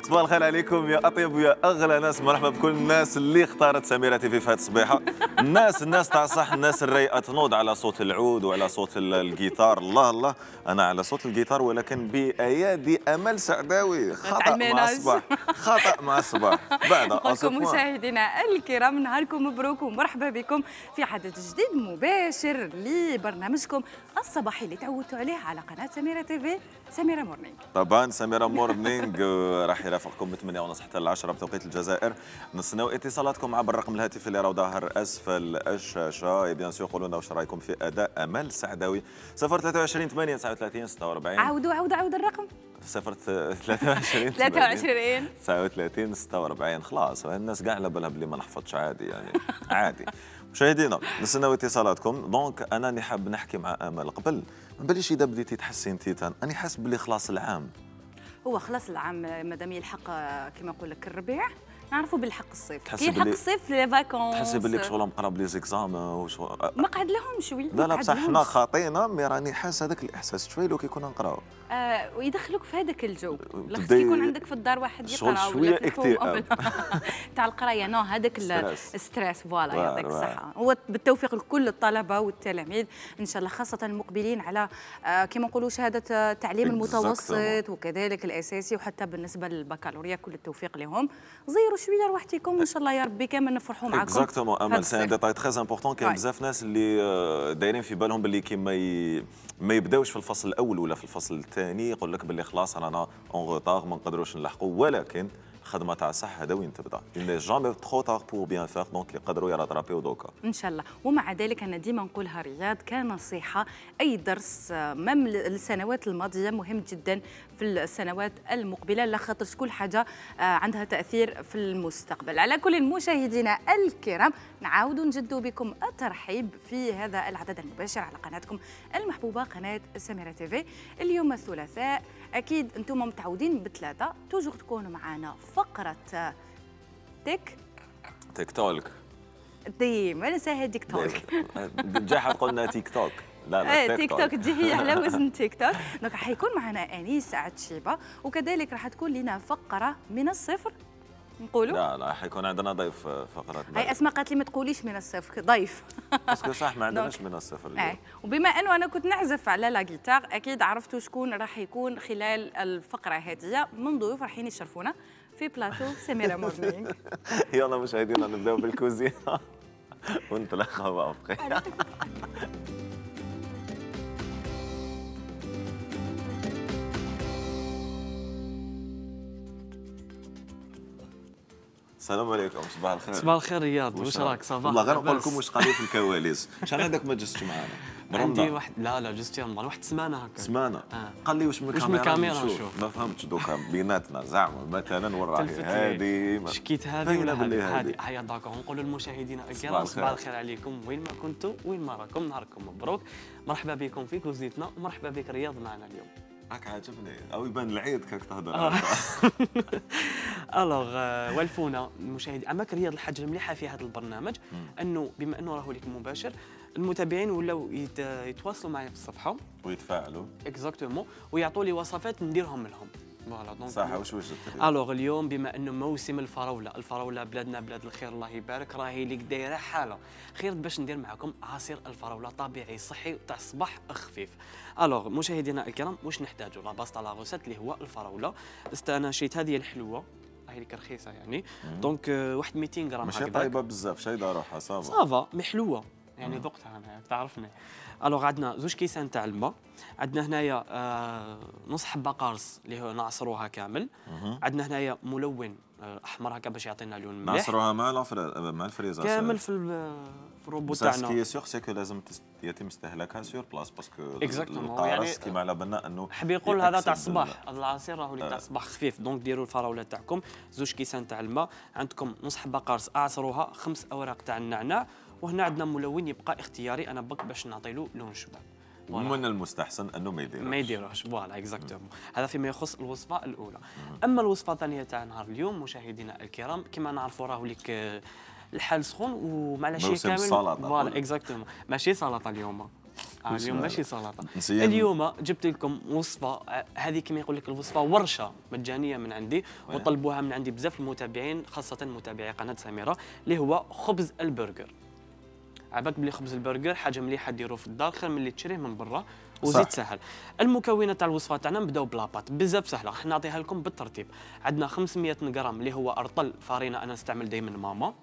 صباح الخير عليكم يا اطيب ويا اغلى ناس. مرحبا بكل الناس اللي اختارت سميرة تيفي في هذه الصبيحه. الناس تاع صح، الناس الرايقه تنوض على صوت العود وعلى صوت الجيتار. الله الله، انا على صوت الجيتار ولكن بايادي امل سعداوي. خطا مع الصباح، خطا مع الصباح. بعد نقولكم مشاهدينا الكرام نهاركم مبروك ومرحبا بكم في حدث جديد مباشر لبرنامجكم الصباحي اللي تعودتوا عليه على قناه سميرة تيفي، سميرة مورنينغ. طبعا سميرة مورنينغ راح يرافقكم من 8:30 حتى ل 10 بتوقيت الجزائر. نستناو اتصالاتكم عبر الرقم الهاتفي اللي راه ظاهر اسفل الشاشه. بيان سور قولوا لنا واش رايكم في اداء امل سعداوي. 023 8 39 46. عاود الرقم 023 39 46. خلاص الناس كاع على بالها بلي ما نحفظش، عادي يعني عادي. مشاهدينا نستناو اتصالاتكم. دونك انا حاب نحكي مع امل قبل ما نبليش. اذا بديتي تحسي انت انا حاسس بلي خلاص العام هو خلاص العام مادام يلحق كما نقول لك الربيع نعرفوا بالحق الصيف. كي يلحق الصيف لي فاكونس تحسي بالك شغل مقرب لي زيكزام مقعد لهم شوي. لا بصح حنا خاطينا مي راني حاس هذاك الاحساس شوي لو كي كنا نقراو ويدخلوك في هذاك الجو. لاخاطش يكون عندك في الدار واحد يقرا شويه اكتئاب تاع القرايه. نو هذاك الستريس. فوالا يعطيك الصحه. هو بالتوفيق لكل الطلبه والتلاميذ ان شاء الله، خاصه المقبلين على كما نقولوا شهاده التعليم المتوسط وكذلك الاساسي وحتى بالنسبه للبكالوريا. كل التوفيق لهم. زيروا شويه روحتكم ان شاء الله يا ربي كامل نفرحوا معكم. اكزاكتومون امل سي ان ديتاي تري امبورطون. كاين بزاف ناس اللي دايرين في بالهم باللي كي ما يبداوش في الفصل الاول ولا في الفصل الثاني يقول لك باللي خلاص رانا اون روتار ما نقدروش نلحقوا، ولكن الخدمه تاع صح هذا وين تبدا. il n'est jamais trop tard pour bien faire. دونك يقدروا يراترابيو دوكا ان شاء الله. ومع ذلك انا ديما نقولها رياض كنصيحه، اي درس مم السنوات الماضيه مهم جدا في السنوات المقبله، لخاطر كل حاجه عندها تاثير في المستقبل. على كل مشاهدينا الكرام نعاودوا نجدوا بكم الترحيب في هذا العدد المباشر على قناتكم المحبوبه قناه سميرة تيفي. اليوم الثلاثاء اكيد انتم متعودين بثلاثه توجور تكونوا معنا فقره تيك توك. ديما نساها تيك توك. جا قلنا تيك توك. لا تيك توك تجي هي على وزن تيك توك. دونك حيكون معنا انيس عتشيبه وكذلك راح تكون لنا فقره من الصفر نقولوا. لا حيكون عندنا ضيف فقرات. هاي اسماء قالت لي ما تقوليش من الصفر ضيف. باسكو صح ما عندناش من الصفر اليوم. وبما انه انا كنت نعزف على لا جيتار اكيد عرفتوا شكون راح يكون خلال الفقره هذه من ضيوف رايحين يشرفونا في بلاتو سميرة مورنينغ. يلا مشاهدينا نبداو بالكوزينه ونتلاقاو بخير. السلام عليكم. صباح الخير. صباح الخير رياض، واش راك؟ صباح. والله غير نقول لكم واش قالوا في الكواليس. شحال هذاك ما جلستش معنا؟ عندي واحد لا جست يا واحد سمانه هكا. سمانه؟ قال لي واش من الكاميرا نشوف. ما فهمتش دوكا بيناتنا زعما مثلا وين راهي هذه شكيت هذه ولا هذه؟ هيا داكور نقولوا للمشاهدين الكرام صباح الخير عليكم وين ما كنتوا وين ما راكم. نهاركم مبروك، مرحبا بكم في كوزيتنا ومرحبا بك رياض معنا اليوم. هاك عجبني او يبان العيد كاك تهضر. الوغ والفونا المشاهدين اماك رياض الحاجه المليحه في هذا البرنامج انه بما انه راهو لك مباشر المتابعين ولاو يتواصلوا معي في الصفحه ويتفاعلوا اكزاكتومون ويعطوا لي وصفات نديرهم لهم. فوالا دونك صح. واش وجدت الوغ اليوم بما انه موسم الفراوله بلادنا بلاد الخير الله يبارك راهي لك دايره حاله خير باش ندير معكم عصير الفراوله طبيعي صحي تاع الصباح خفيف. الوغ مشاهدينا الكرام واش نحتاجوا لا باس تاع لا غوسيت اللي هو الفراوله. انا شريت هذه الحلوه راهي لك رخيصه يعني دونك واحد 200 غرام هكذا. ماشي طايبه بزاف شايده روحها صافا مي حلوه يعني ذقتها انا تعرفني. الوغ عندنا زوج كيسان تاع الماء، عندنا هنايا نص حبه قارص اللي هو نعصروها كامل، عندنا هنايا ملون احمر هكا باش يعطينا لون مليح. نعصروها مع الفريزر كامل في الروبو تاعنا. سكي سيغ سكو لازم يتم استهلاكها سور بلاص باسكو اكزاكتومون يعني كيما على بالنا انه حبي يقول هذا تاع الصباح. هذا العصير راهو تاع الصباح خفيف. دونك ديروا الفراوله تاعكم زوج كيسان تاع الماء، عندكم نص حبه قارص اعصروها، 5 اوراق تاع النعناع، وهنا عندنا ملون يبقى اختياري انا بك باش نعطي له لون شباب. من المستحسن انه ما يديروش. فوالا اكزاكتومون. هذا فيما يخص الوصفه الاولى. اما الوصفه الثانيه تاع نهار اليوم مشاهدينا الكرام كما نعرفوا راهو لك الحال سخون ومع العشيه كامل. فوالا اكزاكتومون ماشي سلطه اليوم. اليوم ماشي سلطه. نسيان. اليوم جبت لكم وصفه، هذه كما يقول لك الوصفه ورشه مجانيه من عندي، وطلبوها من عندي بزاف المتابعين، خاصه متابعي قناه سميره، اللي هو خبز البرجر. عباك بلي خبز البرجر حاجه مليحه ديروه في الدار خير من اللي تشريه من برا، وزيد سهل. المكونات تاع الوصفه تاعنا نبداو بلاباط، بزاف سهله، راح نعطيها لكم بالترتيب. عندنا 500 غرام اللي هو ارطل فارينه، انا نستعمل دائما ماما.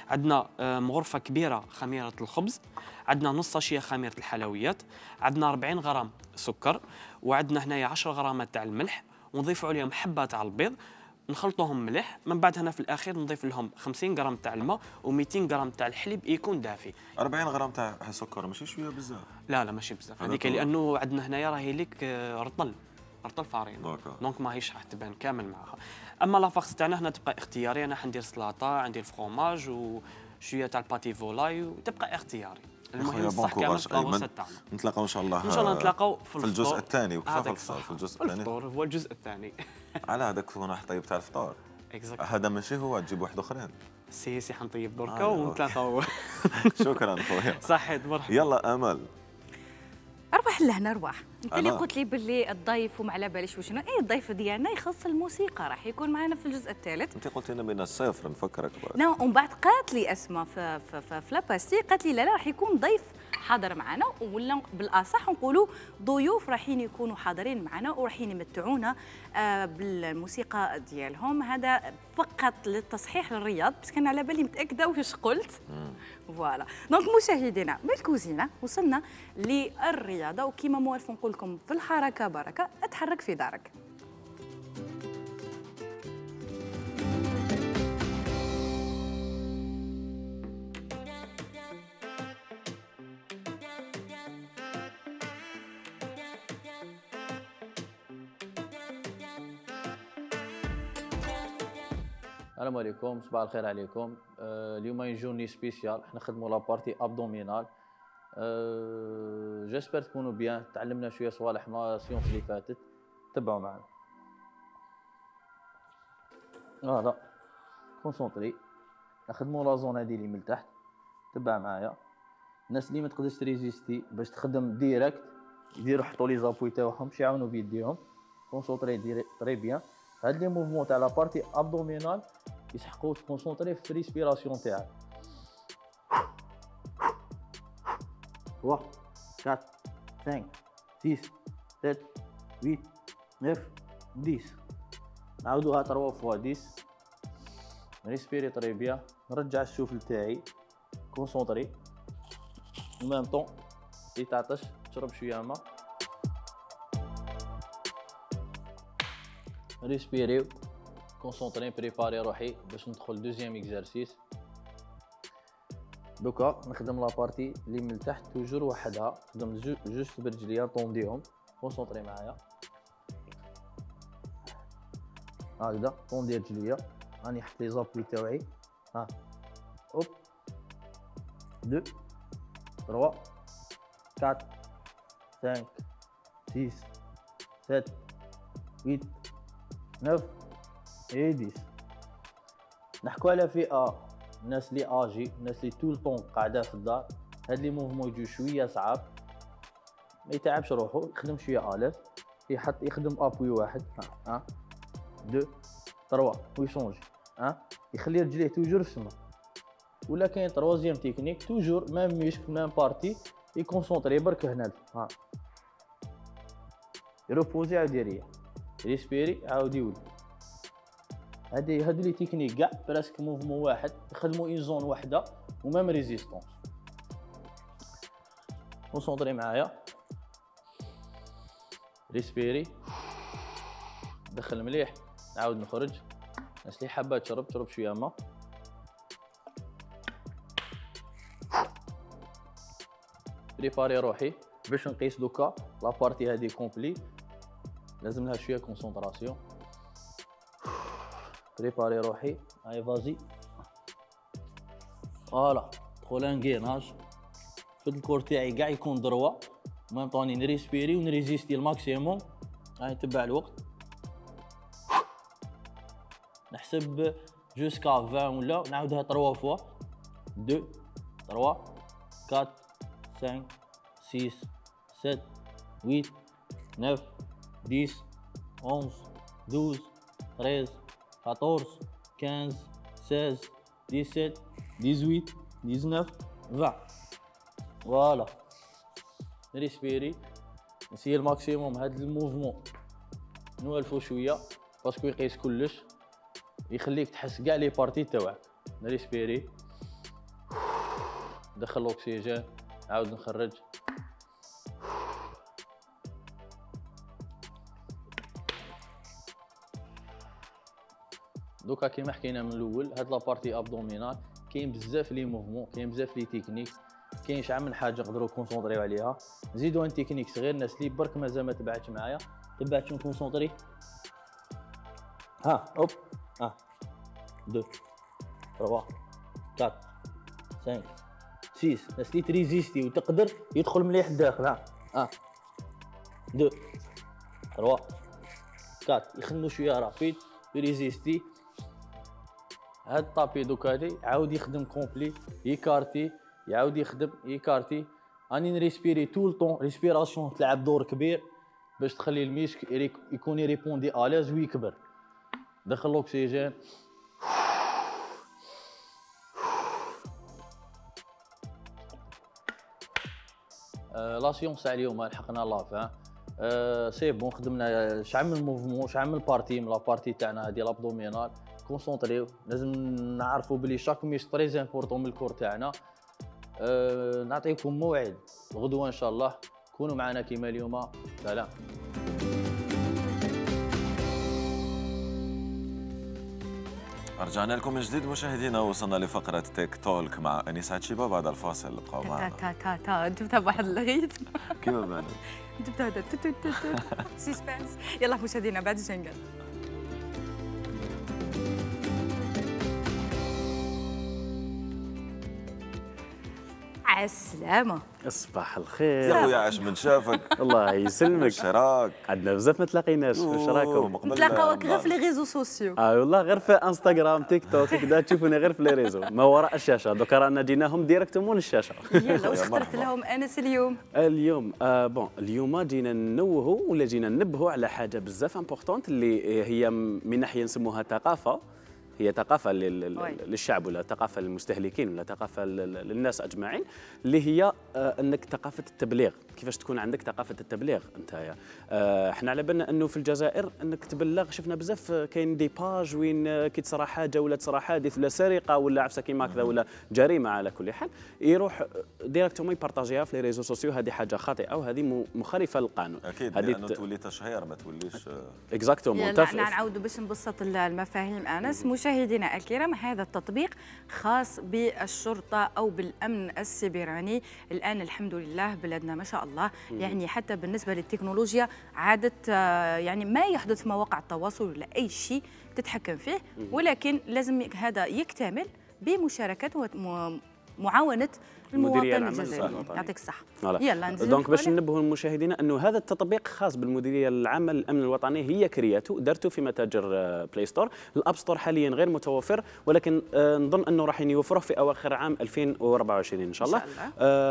عندنا مغرفه كبيره خميره الخبز، عندنا نص ساشيه خميره الحلويات، عندنا 40 غرام سكر، وعندنا هنايا 10 غرامات تاع الملح، ونضيفوا عليهم حبه تاع البيض، نخلطوهم مليح. من بعد هنا في الاخير نضيف لهم 50 غرام تاع الماء و200 غرام تاع الحليب يكون دافي. 40 غرام تاع سكر ماشي شويه بزاف؟ لا ماشي بزاف هذيك، لانه عندنا هنايا راهي ليك رطل فارين، دونك ماهيش راح تبان كامل معها. اما لافاكس تاعنا هنا تبقى اختياري، انا حندير سلطه، عندي الفرomاج وشويه تاع الباتي فولاي، وتبقى اختياري. المهم الصح كامل في الوسط تاعنا. نتلاقاو ان شاء الله، ان شاء الله نتلاقاو في الجزء الثاني. وكيف الفطور في الجزء الثاني؟ الفطور هو الجزء الثاني. على هذاك تكون طيب تاع الفطور. هذا ماشي هو، تجيب واحد اخرين. سي حنطيب دركا ونتلاقاو. شكرا خويا. صحيت مرحبا. يلا امل. ارواح لهنا ارواح. انت اللي قلت لي باللي الضيف وما على باليش وشنو، اي الضيف ديالنا يخص الموسيقى راح يكون معنا في الجزء الثالث. انت قلت لنا من الصفر نفكرك بعد. نعم، ومن بعد قالت لي اسماء في لاباستي، قالت لي لا راح يكون ضيف حاضر معنا، ولا بالاصح نقولوا ضيوف راحين يكونوا حاضرين معنا وراحين يمتعونا بالموسيقى ديالهم. هذا فقط للتصحيح للرياض، بس كان على بالي متاكده واش قلت. فوالا دونك مشاهدينا من الكوزينه وصلنا للرياضه، وكما موالف نقول لكم في الحركه بركه، اتحرك في دارك. السلام عليكم، صباح الخير عليكم. اليوم جورني سبيسيال، حنا نخدموا لابارتي ابدومينال. جيسبر تكونوا بيان، تعلمنا شويه صوالح من السيونس اللي فاتت، تبعوا معنا. فوالا كونسونطري، نخدموا لا زون هذه اللي من تحت، تبع معايا. الناس اللي ما تقدرش تريزيستي باش تخدم ديريكت يديروا يحطوا لي زابوي تاعهم باش يعاونوا بيديهم. كونسونطري تري بيان. هاد لي موفمون تاع لابارتي ابدومينال يسحقوا تكونسونطري في الريسبيراسيون تاعك. 1 4 5 6 7 8 9 10. نعاودوها 3 فوا 10. ريسبيري طري بيان، نرجع السوفل تاعي، كونسونطري ميم طون. كي تعطش تشرب شويه ماء، ريسبيريو كونسونطري، بريباري روحي باش ندخل دوزيام اكزرسيس. دوكا نخدم لابارتي اللي من تحت توجور وحدها، نخدم جوست برجليا طونديهم. كونسونطري معايا هكذا، طوندي رجليا، راني حط لي زابوي تاوعي. ها اوب 2 3 4 5 6 7 8 9 et 10. نحكوا على فئه الناس اللي اجي، الناس اللي طول طون قاعده في الدار. هاد لي موفمون يجوا شويه صعاب، ما يتعبش روحو، يخدم شويه اليز، يخدم ابوي واحد. 1 2 3 ويشونجي. يخلي رجليه توجور في السما. ولا كاين تروازيام تكنيك، توجور ميم ميشك ميم بارتي، يكونسونطري برك هنا. يروبوزي عاود يريح، ريسبيري عاود يولي. هادو لي تكنيك كاع براسك موفمون واحد، يخدموا اون زون وحده وميم ريزيستونس. كونسونطري معايا، ريسبيري، دخل مليح، نعاود نخرج. الناس اللي حابه تشرب شويه ماء. بريباري روحي باش نقيس دوكا لابارتي هادي كومبلي، لازم لها شويه كونسونطراسيون. بريباري روحي، هاي فازي. فوالا دخل انغيناج، شد الكور تاعي كاع يكون دروا، ميم طوني نريسبيري ونريزيستي الماكسيموم. هاي نتبع الوقت، نحسب جوسكا 20 ولا نعاودها 3 فوا. 2 3 4 5 6 7 8 9 10 11 12 13 14 15 16 17 18 19 20. فوالا ريسبيري. نسيي الماكسيموم هاد الموفمون نوالفو شويه باسكو يقيس كلش، يخليك تحس كاع لي بارتي تاوعك. ريسبيري، دخل الاكسجين، عاود نخرج. دوكا كيما حكينا من الاول، هاد لابارتي ابدومينال كاين بزاف لي موفمون، كاين بزاف لي تكنيك، كاين شحال من حاجه نقدروا كونسونطريو عليها. نزيدو ان تكنيك صغير، الناس اللي برك مازال ما تبعتش معايا، تبعت نكونسونطري. ها اوب 1 2 3 4 5 6. الناس اللي تريزيستي وتقدر يدخل مليح الداخل. ها 1 2 3 4 يخدموا شويه رابيد يريزيستي. هاد الطابي دوكا عاود يخدم كومبلي، يكارتي يعاود يخدم يكارتي. راني نريسبيري طول طون. ريسبيراسيون تلعب دور كبير باش تخلي الميشك يكون يريبوندي الاز ويكبر. دخل الاكسجين. لا سيونس تاع اليوم لحقنا لاف. سي بون، خدمنا شحال من موفمون، شحال من بارتي من لابارتي تاعنا هادي لابدومينال. كونسونطريو، لازم نعرفوا بلي شاك ميش تري امبورطون من الكور تاعنا. نعطيكم موعد غدوه ان شاء الله، كونوا معنا كيما اليوم. سلام. رجعنا لكم من جديد مشاهدينا، وصلنا لفقرة تيك تولك مع أنيس عتشيبة. بعد الفاصل ابقوا معنا. تا جبتها بواحد الغيت كيما بانت؟ جبتها هذا سيسبانس. يلا مشاهدينا بعد الجنجل. عالسلامة. صباح الخير يا خويا، عاش من شافك. الله يسلمك. شراك؟ عندنا بزاف ما تلاقيناش. واش راكم؟ نتلاقاوك غير في لي ريزو سوسيو. والله غير في انستغرام تيك توك كذا تشوفونا غير في لي ريزو ما وراء الشاشه. دوكا رانا جيناهم ديريكتومون للشاشه. يلا واش اخترت لهم انس اليوم؟ اليوم بون اليوم جينا ننوهوا ولا جينا ننبهوا على حاجه بزاف امبورطونت اللي هي من ناحيه نسموها ثقافه. هي ثقافه للشعب ولا ثقافه للمستهلكين ولا ثقافه للناس اجمعين، اللي هي انك ثقافه التبليغ. كيفاش تكون عندك ثقافه التبليغ انت؟ احنا على بالنا انه في الجزائر انك تبلغ، شفنا بزاف كاين دي باج وين كي تصرى حاجه ولا تصرى حادث ولا سرقه ولا عفسه كيما هكذا ولا جريمه على كل حال، يروح ديريكتومون يبارطاجيها في لي ريزو سوسيو. هذه حاجه خاطئه وهذه مخالفه للقانون. اكيد، لانه تولي تشهير ما توليش اكزاكتومون. نعاودوا باش نبسط المفاهيم. انس مشاهدينا الكرام، هذا التطبيق خاص بالشرطه او بالامن السيبراني. الان الحمد لله بلادنا ما شاء الله يعني حتى بالنسبه للتكنولوجيا عادت يعني ما يحدث في مواقع التواصل ولا اي شيء تتحكم فيه، ولكن لازم هذا يكتمل بمشاركه ومعاونه المواطن الجزائري. يعطيك الصحه. يلا نزيد. دونك باش ننبهوا المشاهدين انه هذا التطبيق خاص بالمديريه العامه للامن الوطني، هي كرياته دارته في متاجر بلاي ستور. الاب ستور حاليا غير متوفر، ولكن نظن انه راح يوفروه في اواخر عام 2024 ان شاء الله.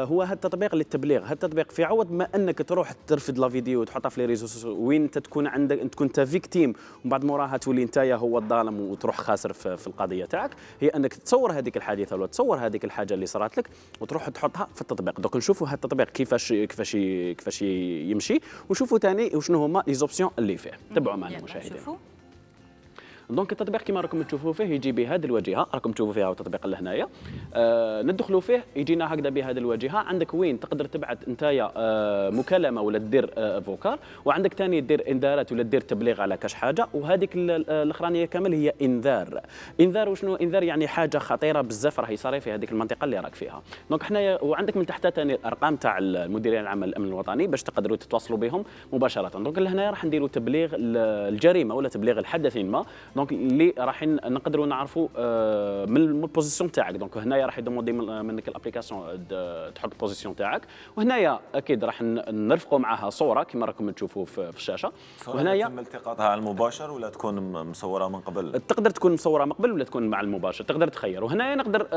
هو هذا التطبيق للتبليغ. هذا التطبيق في عوض ما انك تروح ترفد لا فيديو وتحطها في لي ريزو وين انت تكون عندك تكون انت فيكتيم ومن بعد موراها تولي انت هو الظالم وتروح خاسر في القضيه تاعك، هي انك تصور هذيك الحادثه ولا تصور هذيك الحاجه اللي صارت لك وتروح تحطها في التطبيق. دوك نشوفوا هذا التطبيق كيفاش يمشي، وشوفوا ثاني وشنو هما لي زوبسيون اللي فيه. تبعوا معنا المشاهدين. دونك التطبيق كما راكم تشوفوا فيه يجي بهذه الواجهه، راكم تشوفوا فيها التطبيق اللي هنايا. ندخلوا فيه يجينا هكذا بهذه الواجهه. عندك وين تقدر تبعث نتايا مكالمه ولا دير فوكال، وعندك ثاني دير انذارات ولا دير تبليغ على كاش حاجه، وهذيك الاخرانيه كامل هي انذار. انذار وشنو انذار؟ يعني حاجه خطيره بزاف راهي صاري في هذيك المنطقه اللي راك فيها. دونك حنايا وعندك من تحت ثاني الارقام تاع المديريه العامه للامن الوطني باش تقدروا تتواصلوا بهم مباشره. دونك لهنايا راح نديروا تبليغ الجريمه ولا تبليغ الحدث ما. دونك اللي راح نقدروا نعرفوا من البوزيسيون تاعك. دونك هنايا راح يدوموندي منك الابليكاسيون تحط البوزيسيون تاعك، وهنايا اكيد راح نرفقوا معها صوره كما راكم تشوفوا في الشاشه. وهنايا يتم التقاطها على المباشر ولا تكون مصوره من قبل؟ تقدر تكون مصوره من قبل ولا تكون مع المباشر، تقدر تخير. وهنايا نقدر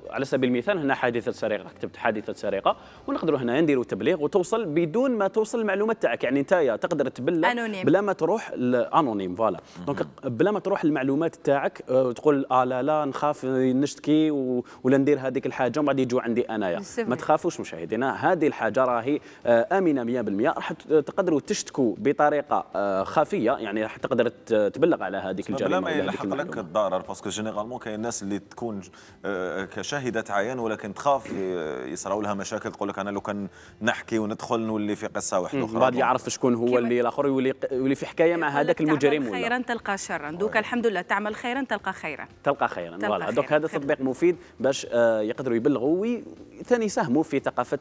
على سبيل المثال هنا حادثه سرقه، كتبت حادثه سرقه، ونقدروا هنا نديروا تبليغ وتوصل بدون ما توصل المعلومات تاعك. يعني انت تقدر تبلغ بلا ما تروح انونيم، فوالا. دونك بلا ما تروح المعلومات تاعك تقول لا نخاف نشتكي ولا ندير هذيك الحاجه ومن بعد يجوا عندي انايا. ما تخافوش مشاهدينا، هذه الحاجه راهي امنه 100%. راح تقدروا تشتكوا بطريقه خفيه، يعني راح تقدر تبلغ على هذيك الجريمه بلا ما يلحق لك الضرر. باسكو جينيرالمون كاين الناس اللي تكون كشاهده عيان ولكن تخاف يصراو لها مشاكل، تقول لك انا لو كان نحكي وندخل نولي في قصه واحده اخرى، بعد يعرف شكون هو اللي الاخر يولي في حكايه مع هذاك المجرم. ولا خيرا تلقى شرا، دوك الحمد لله تعمل خيرا تلقى خيرا، تلقى خيرا. فوالا دوك هذا تطبيق مفيد باش يقدروا يبلغوا وثاني يساهموا في ثقافه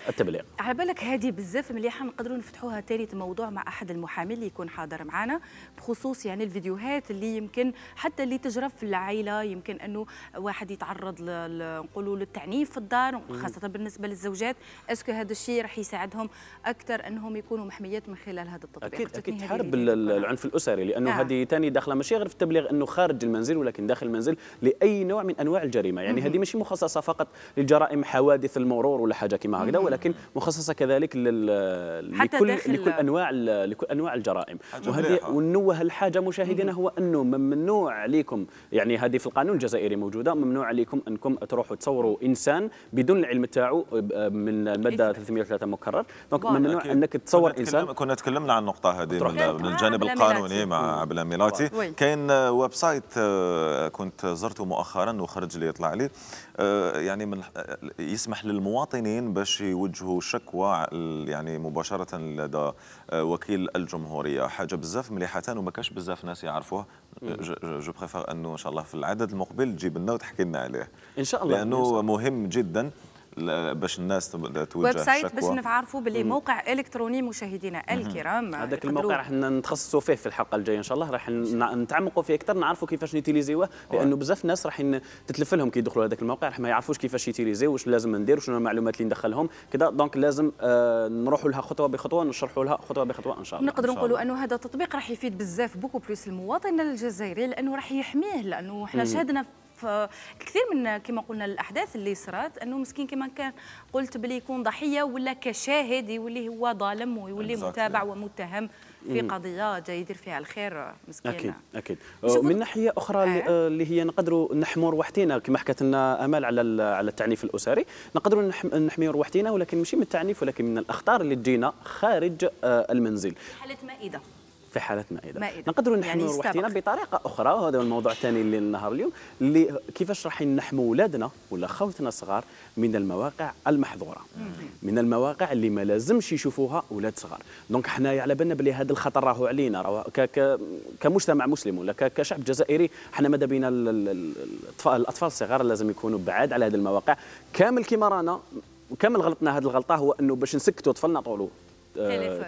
التبليغ. على بالك هذه بزاف مليحه، نقدروا نفتحوها ثالث موضوع مع احد المحامين اللي يكون حاضر معنا بخصوص يعني الفيديوهات اللي يمكن حتى اللي تجرى في العائله، يمكن انه واحد يتعرض نقولوا للتعنيف في الدار خاصه بالنسبه للزوجات. اسكو هذا الشيء راح يساعدهم اكثر انهم يكونوا محميات من خلال هذا التطبيق؟ اكيد تحارب العنف الاسري، لانه هذه ثاني داخله ماشي غير في التبليغ انه خارج المنزل ولكن داخل المنزل لاي نوع من انواع الجريمه. يعني هذه ماشي مخصصه فقط للجرائم حوادث المرور ولا حاجه كما هكذا، ولكن مخصصه كذلك لكل انواع الجرائم. وهذه ونوه الحاجه مشاهدينا هو انه ممنوع عليكم، يعني هذه في القانون الجزائري موجوده، ممنوع عليكم انكم تروحوا تصوروا انسان بدون العلم تاعو من الماده 303 مكرر. دونك ممنوع انك تصور انسان. كنا تكلمنا عن النقطه هذه من الجانب القانوني مع عبلة ميلاتي. كاين ويب سايت كنت زرته مؤخرا وخرج لي يطلع لي يعني من يسمح للمواطنين باش يوجهوا شكوى يعني مباشره لدى وكيل الجمهوريه. حاجه بزاف مليحه وما كاش بزاف ناس يعرفوها. جو بريفير انه ان شاء الله في العدد المقبل تجيب لنا وتحكي لنا عليه ان شاء الله، لانه مهم جدا باش الناس توجه ويب سايت شكوى. باش نعرفوا باللي موقع الكتروني مشاهدينا الكرام. هذاك الموقع راح نتخصصوا فيه في الحلقه الجايه ان شاء الله، راح نتعمقوا فيه اكثر، نعرفوا كيفاش نيتيليزيوه، لانه بزاف ناس راح تتلف لهم كي يدخلوا هذاك الموقع راح ما يعرفوش كيفاش يتيليزيو، واش لازم ندير، وشنو المعلومات اللي ندخلهم كذا. دونك لازم نروحوا لها خطوه بخطوه، نشرحوا لها خطوه بخطوه ان شاء الله. نقدروا نقولوا انه هذا التطبيق راح يفيد بزاف بوكو بلوس المواطن الجزائري، لانه راح يحميه، لانه احنا شاهدنا كثير من كما قلنا الاحداث اللي صرات انه مسكين كما كان قلت بلي يكون ضحيه ولا كشاهد يولي هو ظالم ويولي متابع ومتهم في قضيه جاي يدير فيها الخير مسكين. اكيد من ناحيه اخرى اللي هي نقدروا نحموا روحتنا كما حكت لنا امال على التعنيف الاسري، نقدروا نحميوا روحتنا ولكن ماشي من التعنيف ولكن من الاخطار اللي تجينا خارج المنزل. حاله مائده، في حالة مائدة نقدروا نحموا يعني روحنا بطريقة أخرى، وهذا هو الموضوع الثاني اللي النهار اليوم، اللي كيفاش راح نحموا أولادنا ولا خوتنا الصغار من المواقع المحظورة، من المواقع اللي ما لازمش يشوفوها أولاد صغار. دونك حنايا على بالنا بلي هذا الخطر راهو علينا، راهو كمجتمع مسلم ولا كشعب جزائري، حنا ماذا بينا الأطفال الصغار لازم يكونوا بعاد على هذه المواقع. كامل كيما رانا كامل غلطنا هذه الغلطة، هو أنه باش نسكتوا طفلنا طولوا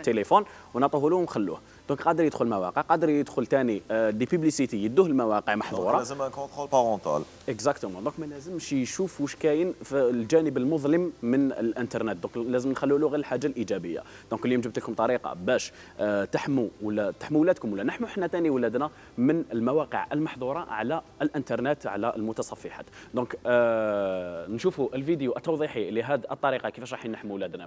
تليفون ونعطوه له ونخلوه. دونك قادر يدخل مواقع، قادر يدخل ثاني دي بيبليسيتي يدوه المواقع محظوره، لازم كونترول بارونتال. اكزاكتومون. دونك ما لازمش يشوف واش كاين في الجانب المظلم من الانترنت، دونك لازم نخلوا له غير الحاجه الايجابيه. دونك اليوم جبت لكم طريقه باش تحموا ولادكم ولا نحموا حنا ثاني ولادنا من المواقع المحظوره على الانترنت على المتصفحات. دونك نشوفوا الفيديو التوضيحي لهذه الطريقه كيفاش راح نحموا ولادنا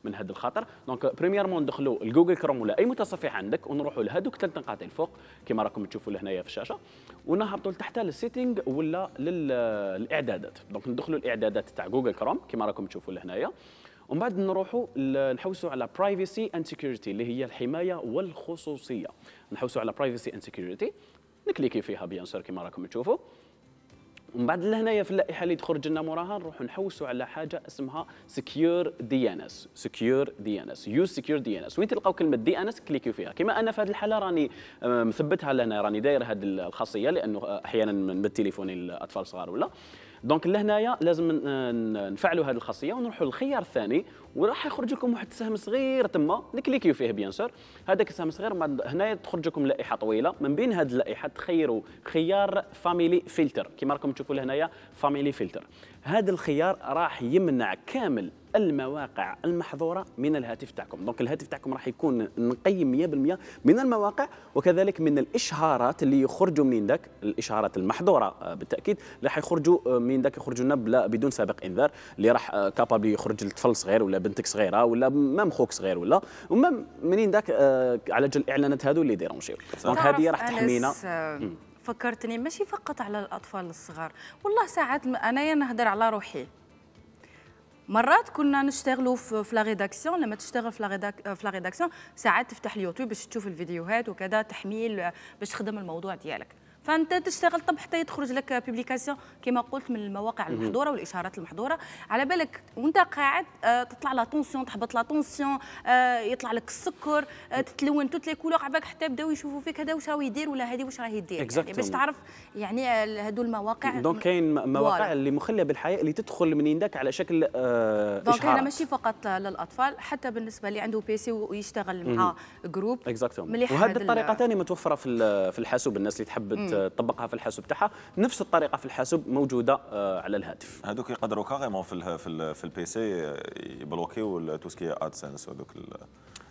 من هذا الخطر. دونك بريميرمون ندخلوا الجوجل كروم ولا اي متصفح عندك ونروحوا لهذوك 3 نقاط الفوق كما راكم تشوفوا لهنايا في الشاشه، ونهبطوا لتحت للسيتينغ ولا للاعدادات. دونك ندخلوا الاعدادات تاع جوجل كروم كما راكم تشوفوا لهنايا، ومن بعد نروحوا نحوسوا على برايفسي اند سيكيورتي اللي هي الحمايه والخصوصيه. نحوسوا على برايفسي اند سيكيورتي، نكليكي فيها بيان سور كما راكم تشوفوا. ومن بعد لهنايا في اللائحه اللي تخرج لنا موراها نروحوا نحوسوا على حاجه اسمها سكيور دي ان اس. سكيور دي ان اس، يوز سكيور دي ان اس. وين تلقاو كلمه دي ان اس كليكيو فيها. كما انا في هذه الحاله راني مثبتها لهنا، راني داير هذه الخاصيه لانه احيانا من بالتليفون الاطفال الصغار ولا دونك لهنايا لازم نفعلوا هذه الخاصيه ونروحوا للخيار الثاني، وراح يخرج لكم واحد السهم صغير تما نكليكيو فيه بيان سور. هذاك السهم صغير هنايا تخرج لكم لائحه طويله، من بين هذه اللائحه تخيروا خيار فاميلي فلتر كما راكم تشوفوا لهنايا فاميلي فلتر. هذا الخيار راح يمنع كامل المواقع المحظوره من الهاتف تاعكم. دونك الهاتف تاعكم راح يكون نقي 100% من المواقع وكذلك من الاشهارات اللي يخرجوا من داك، الاشهارات المحظوره بالتاكيد راح يخرجوا من داك، يخرجوا لنا بدون سابق انذار، اللي راح كابابل يخرج لطفل صغير ولا بنتك صغيره ولا مام خوك صغير ولا ومام منين داك على جال الاعلانات هذو اللي ديرونجيو. دونك هذه راح تحمينا. فكرتني ماشي فقط على الاطفال الصغار، والله ساعات انايا نهضر على روحي. مرات كنا نشتغلوا في لا ريداكسيون، لما تشتغل في لا ريداكسيون ساعات تفتح اليوتيوب باش تشوف الفيديوهات وكذا، تحميل باش تخدم الموضوع ديالك، فانت تشتغل طب حتى يخرج لك بوبليكاسيون كما قلت من المواقع المحظوره والاشارات المحظوره، على بالك وانت قاعد تطلع لا طونسيون، تحبط لا طونسيون، يطلع لك السكر، تتلون توت لي كولور، عباك حتى يبداو يشوفوا فيك هذا واش راه يدير ولا هذه واش راهي دير، يعني باش تعرف يعني هذو المواقع. دونك كاين مواقع اللي مخليه بالحياه اللي تدخل منين داك على شكل اشهارات. دونك هنا ماشي فقط للاطفال، حتى بالنسبه اللي عنده بيسي ويشتغل مع جروب. وهذه الطريقه ثاني متوفره في الحاسوب، الناس اللي تحب تطبقها في الحاسوب تاعها، نفس الطريقه في الحاسوب موجوده على الهاتف. هذوك يقدروا كاريمون في البيسي يبلوكيو تو سكي ادسنس ودوك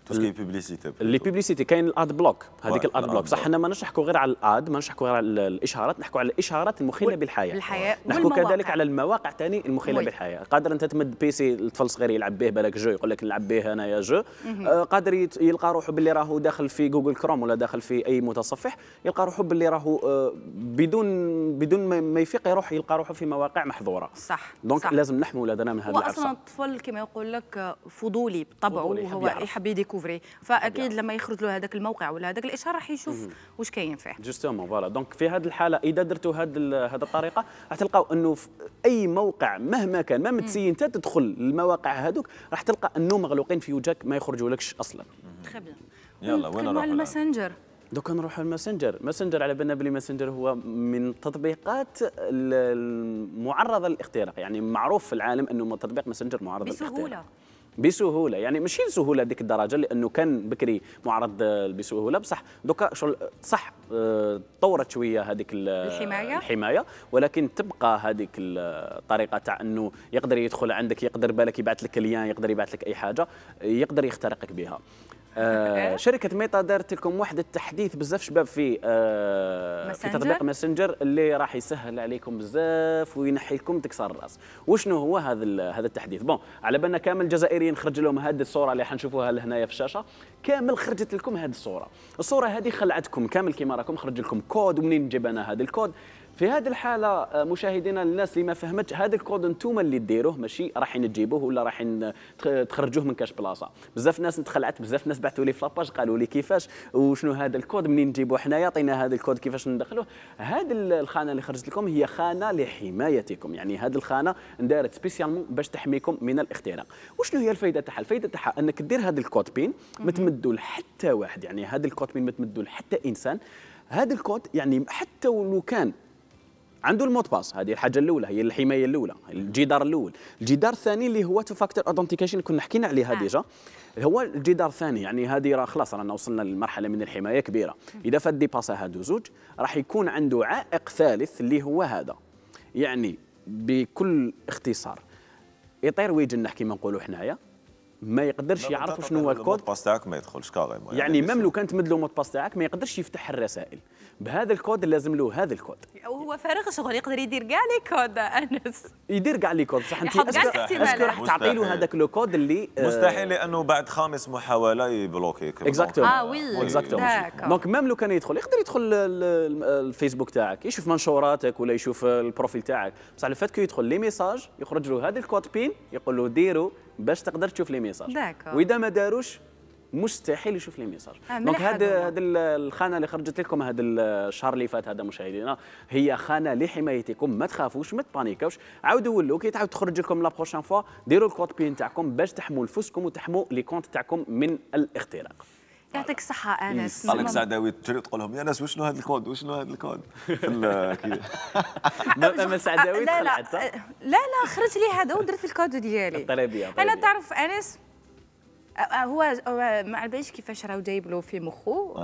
تو سكي بوبليسيتي. اللي بوبليسيتي كاين الاد بلوك، هذيك الاد بلوك صح. حنا ما نحكوا غير على الاد، ما نحكوا غير على الاشهارات، نحكوا على الاشهارات المخله بالحياه. نحكوا كذلك على المواقع ثاني المخله بالحياه. قادر انت تمد بيسي لطفل صغير يلعب به، بالك جو يقول لك نلعب به انايا جو، قادر يلقى روحه باللي راهو داخل في جوجل كروم ولا داخل في اي متصفح، يلقى روحه باللي راهو بدون ما يفيق يروح يلقى روحه في مواقع محظوره. صح. دونك لازم نحموا ولادنا من هذا العرصه. واصلا الطفل كما يقول لك فضولي بطبعه، هو يحب يديكوفري، فاكيد لما يخرج له هذاك الموقع ولا هذاك الاشهار راح يشوف واش كاين فيه. جوستومون فوالا. دونك في هذه الحاله اذا درتوا هذه الطريقه راح تلقاو انه في اي موقع مهما كان، ما متسين انت تدخل المواقع هذوك راح تلقى انه مغلوقين في وجهك ما يخرجوا لكش اصلا. تري بيان. يلا وين نروحوا؟ الماسنجر. دوكا نروحوا الماسنجر على بالنا بلي ماسنجر هو من التطبيقات المعرضه للاختراق، يعني معروف في العالم انه تطبيق ماسنجر معرض للاختراق بسهوله، يعني ماشي بسهوله ديك الدرجه لانه كان بكري معرض بسهوله، بصح دوكا صح طورت شويه هذيك الحمايه، ولكن تبقى هذيك الطريقه تاع انه يقدر يدخل عندك، يقدر بالك يبعث لك ليان، يقدر يبعث لك اي حاجه يقدر يخترقك بها. شركة ميتا دارت لكم واحد التحديث بزاف شباب في تطبيق ماسنجر اللي راح يسهل عليكم بزاف وينحي لكم تكسر الراس. وشنو هو هذا التحديث؟ بون على بالنا كامل الجزائريين خرج لهم هذه الصورة اللي حنشوفوها لهنايا في الشاشة، كامل خرجت لكم هذه الصورة هذه خلعتكم كامل كيما راكم، خرج لكم كود، ومنين جاب انا هذا الكود؟ في هذه الحالة مشاهدينا الناس اللي ما فهمتش، هذا الكود انتم اللي ديروه، ماشي رايحين تجيبوه ولا رايحين تخرجوه من كاش بلاصة. بزاف ناس تخلعت، بزاف ناس بعثوا لي في لاباج قالوا لي كيفاش وشنو هذا الكود، منين نجيبوه حنايا، عطينا هذا الكود كيفاش ندخلوه. هذه الخانة اللي خرجت لكم هي خانة لحمايتكم، يعني هذه الخانة اندارت سبيسيالمون باش تحميكم من الاختراق. وشنو هي الفائدة تاعها؟ الفائدة تاعها انك دير هذا الكود بين ما تمدوا لحتى واحد، يعني هذا الكود بين ما تمدوا لحتى انسان. هذا الكود يعني حتى ولو كان عنده المود باس، هذه الحاجه الاولى، هي الحمايه الاولى، الجدار الاول. الجدار الثاني اللي هو تو فاكتور اثنتيكيشن كنا حكينا عليها ديجا، هو الجدار الثاني، يعني هذه راه خلاص رانا وصلنا لمرحله من الحمايه كبيره. اذا فات ديباسا هادو زوج راح يكون عنده عائق ثالث اللي هو هذا، يعني بكل اختصار يطير ويجنح كما نقولوا حنايا، ما يقدرش يعرف شنو هو الكود. المود باس تاعك ما يدخلش كاريمون، يعني ميم لو كان تمد له المود باس تاعك ما يقدرش يفتح الرسائل. بهذا الكود لازم له هذا الكود، وهو فارغ شغل يقدر يدير كاع لي كود. انس يدير كاع لي كود بصح انت اسكو راح تعطي له هذاك لو كود اللي مستحيل، لانه بعد 5 محاوله يبلوكيك. اكزاكتومون وي اكزاكتومون. دونك ميم لو كان يقدر يدخل الفيسبوك تاعك، يشوف منشوراتك ولا يشوف البروفيل تاعك، بصح الفات كي يدخل لي ميساج يخرج له هذا الكود بين يقول له ديرو باش تقدر تشوف لي ميساج، واذا ما داروش مستحيل يشوف لي ميساج. دونك هذه الخانه اللي خرجت لكم هذا الشهر اللي فات هذا مشاهدينا هي خانه لحمايتكم، ما تخافوش ما تبانيكوش. عاودوا ولوا كي تعاود تخرج لكم لا بروشين فوا ديروا الكود بين تاعكم باش تحموا نفسكم وتحموا لي كونت تاعكم من الاختراق. يعطيك الصحه انس. قال لك سعداوي تجري تقول لهم يا ناس وشنو هذا الكود وشنو هذا الكود ما سعداوي لا طلعت لا خرج لي هذا ودرت الكود ديالي. الطلبيه انا تعرف انس هو ما عرفش كيفاش راه جايب له في مخو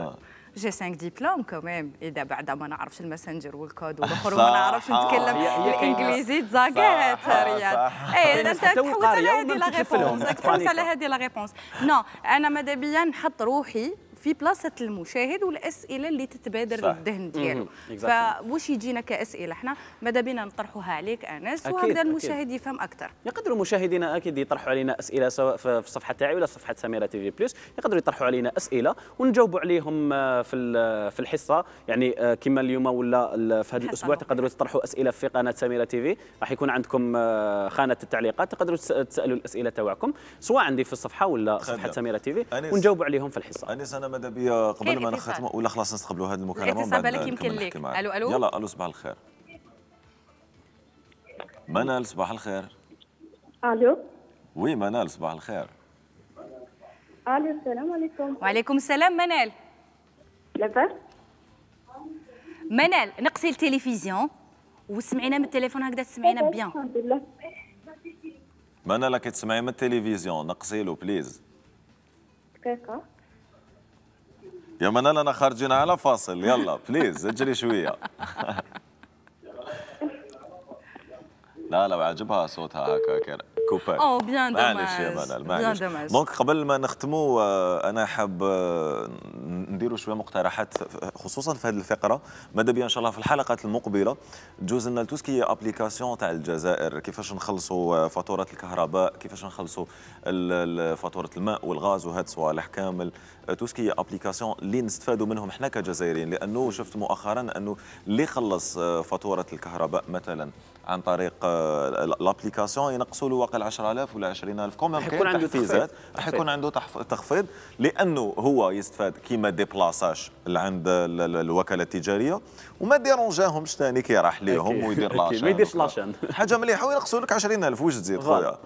جي 5 ديبلوم كمان. اذا بعد ما نعرفش الماسنجر والكود والاخر وما نعرفش نتكلم الانجليزي تزاقات رياض. اي انت تحوس على هذه لا ريبونس، تحوس على هذه لا ريبونس. نو انا ماذا بيا نحط روحي في بلاصه المشاهد والاسئله اللي تتبادر للذهن ديالو. فواش يجينا كاسئله احنا ماذا بينا نطرحوها عليك انس وهكذا المشاهد يفهم اكثر. يقدروا مشاهدينا اكيد يطرحوا علينا اسئله سواء في الصفحه تاعي ولا صفحه سميره تي في بلس، يقدروا يطرحوا علينا اسئله ونجاوبوا عليهم في الحصه. يعني كما اليوم ولا في هذا الاسبوع تقدروا تطرحوا اسئله في قناه سميره تي في، راح يكون عندكم خانه التعليقات تقدروا تسالوا الاسئله تاعكم سواء عندي في الصفحه ولا صفحه سميره تي في ونجاوبوا عليهم في الحصه. انس انا ماذا بيا قبل ما نختموا ولا خلاص نستقبلوا هذه المكالمه الاتصال بالك يمكن لك. الو يلا الو صباح الخير. منال صباح الخير. الو وي منال صباح الخير. الو السلام عليكم. وعليكم السلام منال. لاباس منال نقصي التلفزيون وسمعينا من التليفون هكذا تسمعينا بيان. الحمد لله. منال كي تسمعي من التلفزيون نقصي له بليز. دقيقة يا منال انا خارجين على فاصل يلا بليز اجري شويه. لا عجبها صوتها هكا كوبر. بيان معليش يا منال معليش. دونك قبل ما نختموا انا حاب نديروا شويه مقترحات خصوصا في هذه الفقره. ماذا بيا ان شاء الله في الحلقات المقبله تجوز لنا توسكي ابليكاسيون تاع الجزائر، كيفاش نخلصوا فاتوره الكهرباء، كيفاش نخلصوا فاتوره الماء والغاز وهاد صوالح كامل. توسكي ابليكاسيون اللي نستفادوا منهم احنا كجزائريين، لانه شفت مؤخرا انه اللي خلص فاتوره الكهرباء مثلا عن طريق الابليكاسيون ينقصوا له واقع 10,000 ولا 20,000 كومون كاين تحفيزات، راح يكون عنده تخفيض لانه هو يستفاد كيما ديبلاساج عند الوكاله التجاريه وما ديرونجاهمش ثاني كي راح ليهم ويدير لاشان. ما يديرش لاشان حاجه مليحه وينقصوا لك 20,000 واش تزيد خويا.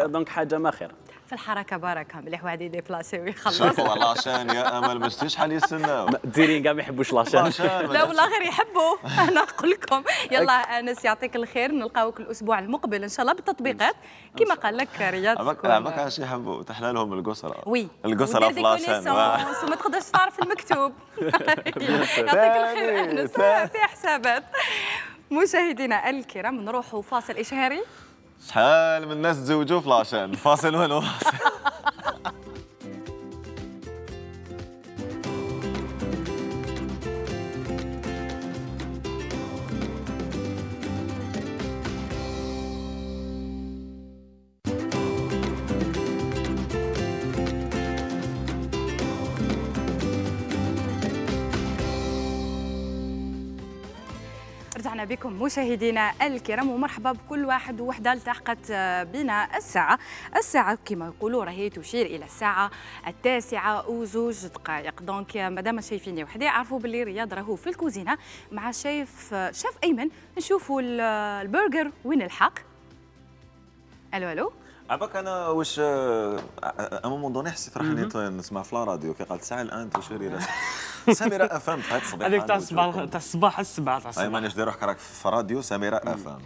دونك حاجه ما خير في الحركه بركه مليح واحد يديبلاسي ويخلص. شوفوا لاشان يا امل ما شفتيش شحال يستناو الجزائريين كاع ما يحبوش لاشان. لا والله غير يحبوا. انا نقول لكم يلا انس يعطيك الخير، نلقاوك الاسبوع المقبل ان شاء الله بالتطبيقات كما قال لك رياض. عباك اش يحبوا تحلى لهم القسره. وي القسره في لاشان وما تقدرش تعرف المكتوب. يعطيك الخير انس في حسابات. مشاهدينا الكرام نروحوا فاصل اشهاري. شحال من الناس تزوجوا في لاشان فاصل وين رجعنا بكم مشاهدينا الكرام ومرحبا بكل واحد ووحده التحقت بنا الساعة كما يقولوا راهي تشير إلى الساعة 9:02 دونك مادام شايفيني وحدي عرفوا باللي رياض راهو في الكوزينة مع شيف أيمن. نشوفوا البرجر وين الحق. الو عباك انا واش امام دوني حسيت راح نسمع في الراديو كي قالت ساعه الان تشير الى سميره افهم في هذا الصباح هذيك تاع الصباح السبعة تاع الصباح. اي مانيش دير روحك راك في راديو سميره افهم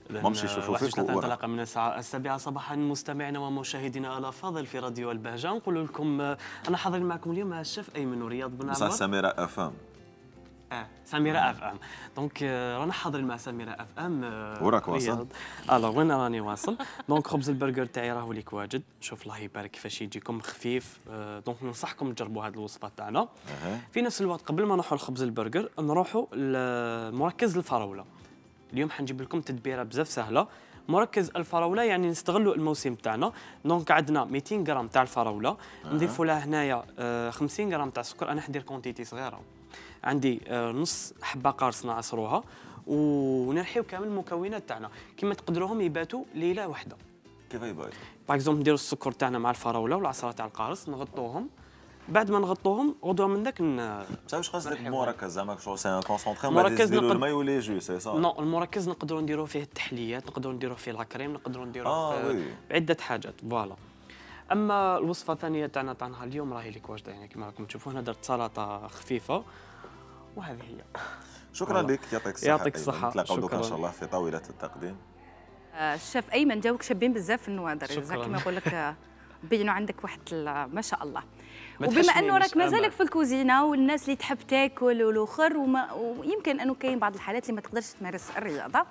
مامشي يشوفوا فيك. تنطلق من الساعة 7 صباحا مستمعينا ومشاهدينا الافاضل في راديو البهجه. نقول لكم انا حاضر معكم اليوم مع الشيف ايمن ورياض بن عمر. سميره افهم سميره اف ام. دونك رانا حاضرين مع سميره اف ام. وراك واصل؟ الوغ وين راني واصل. دونك خبز البرجر تاعي راهو ليك واجد. شوف الله يبارك كيفاش يجيكم خفيف. دونك ننصحكم تجربوا هذه الوصفات تاعنا. في نفس الوقت قبل ما نروحوا لخبز البرجر نروحوا لمركز الفراوله. اليوم حنجيب لكم تدبيره بزاف سهله. مركز الفراوله يعني نستغلوا الموسم تاعنا. دونك عندنا 200 غرام تاع الفراوله نضيفوا لها هنايا 50 غرام تاع السكر. انا حندير كونتيتي صغيره. عندي نص حبه قارص نعصروها ونرحيو كامل المكونات تاعنا كما تقدروهم يباتوا ليله واحده. كيف يباتوا؟ باغ اكزومبل نديروا السكر تاعنا مع الفراوله والعصره تاع القارص نغطوهم. بعد ما نغطوهم غدوه من ذاك واش قصدك مركز زعما شغل سي ان كونسونطري ما نديروا الماء ولا جو سي صا؟ نو المركز نقدروا نديروا فيه التحليات، نقدروا نديروا فيه لاكريم، نقدروا نديروا فيه عده حاجات. فوالا اما الوصفه الثانيه تاعنا تاع اليوم راهي لك واجده، يعني كما راكم تشوفوا هنا درت سلطه خفيفه وهذه هي. شكرا لك، يعطيك الصحه. يعطيك الصحه. نتلاقاو دوكا ان شاء الله في طاوله التقديم. الشيف ايمن جاوك شابين بزاف في النوادر، شكراً. كما نقول لك بينوا عندك واحد ما شاء الله. ما وبما انه راك تحشمينيش، مازالك في الكوزينه والناس اللي تحب تاكل والاخر ويمكن انه كاين بعض الحالات اللي ما تقدرش تمارس الرياضه،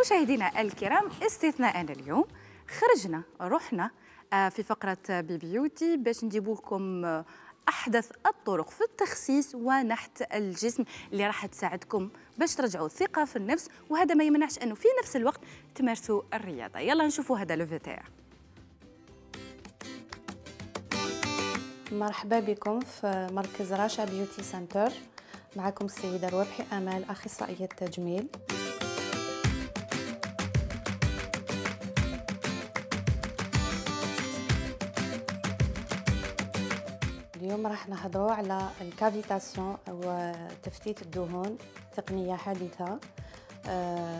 مشاهدينا الكرام استثناء اليوم خرجنا رحنا في فقره بيبيوتي باش نجيب لكم احدث الطرق في التخسيس ونحت الجسم اللي راح تساعدكم باش ترجعوا الثقه في النفس، وهذا ما يمنعش انه في نفس الوقت تمارسوا الرياضه. يلا نشوفوا هذا لو تاع. مرحبا بكم في مركز راشا بيوتي سنتر. معكم السيدة روابحي أمال، أخصائية تجميل. اليوم راح نهضروا على الكافيتاسيون أو تفتيت الدهون، تقنية حديثة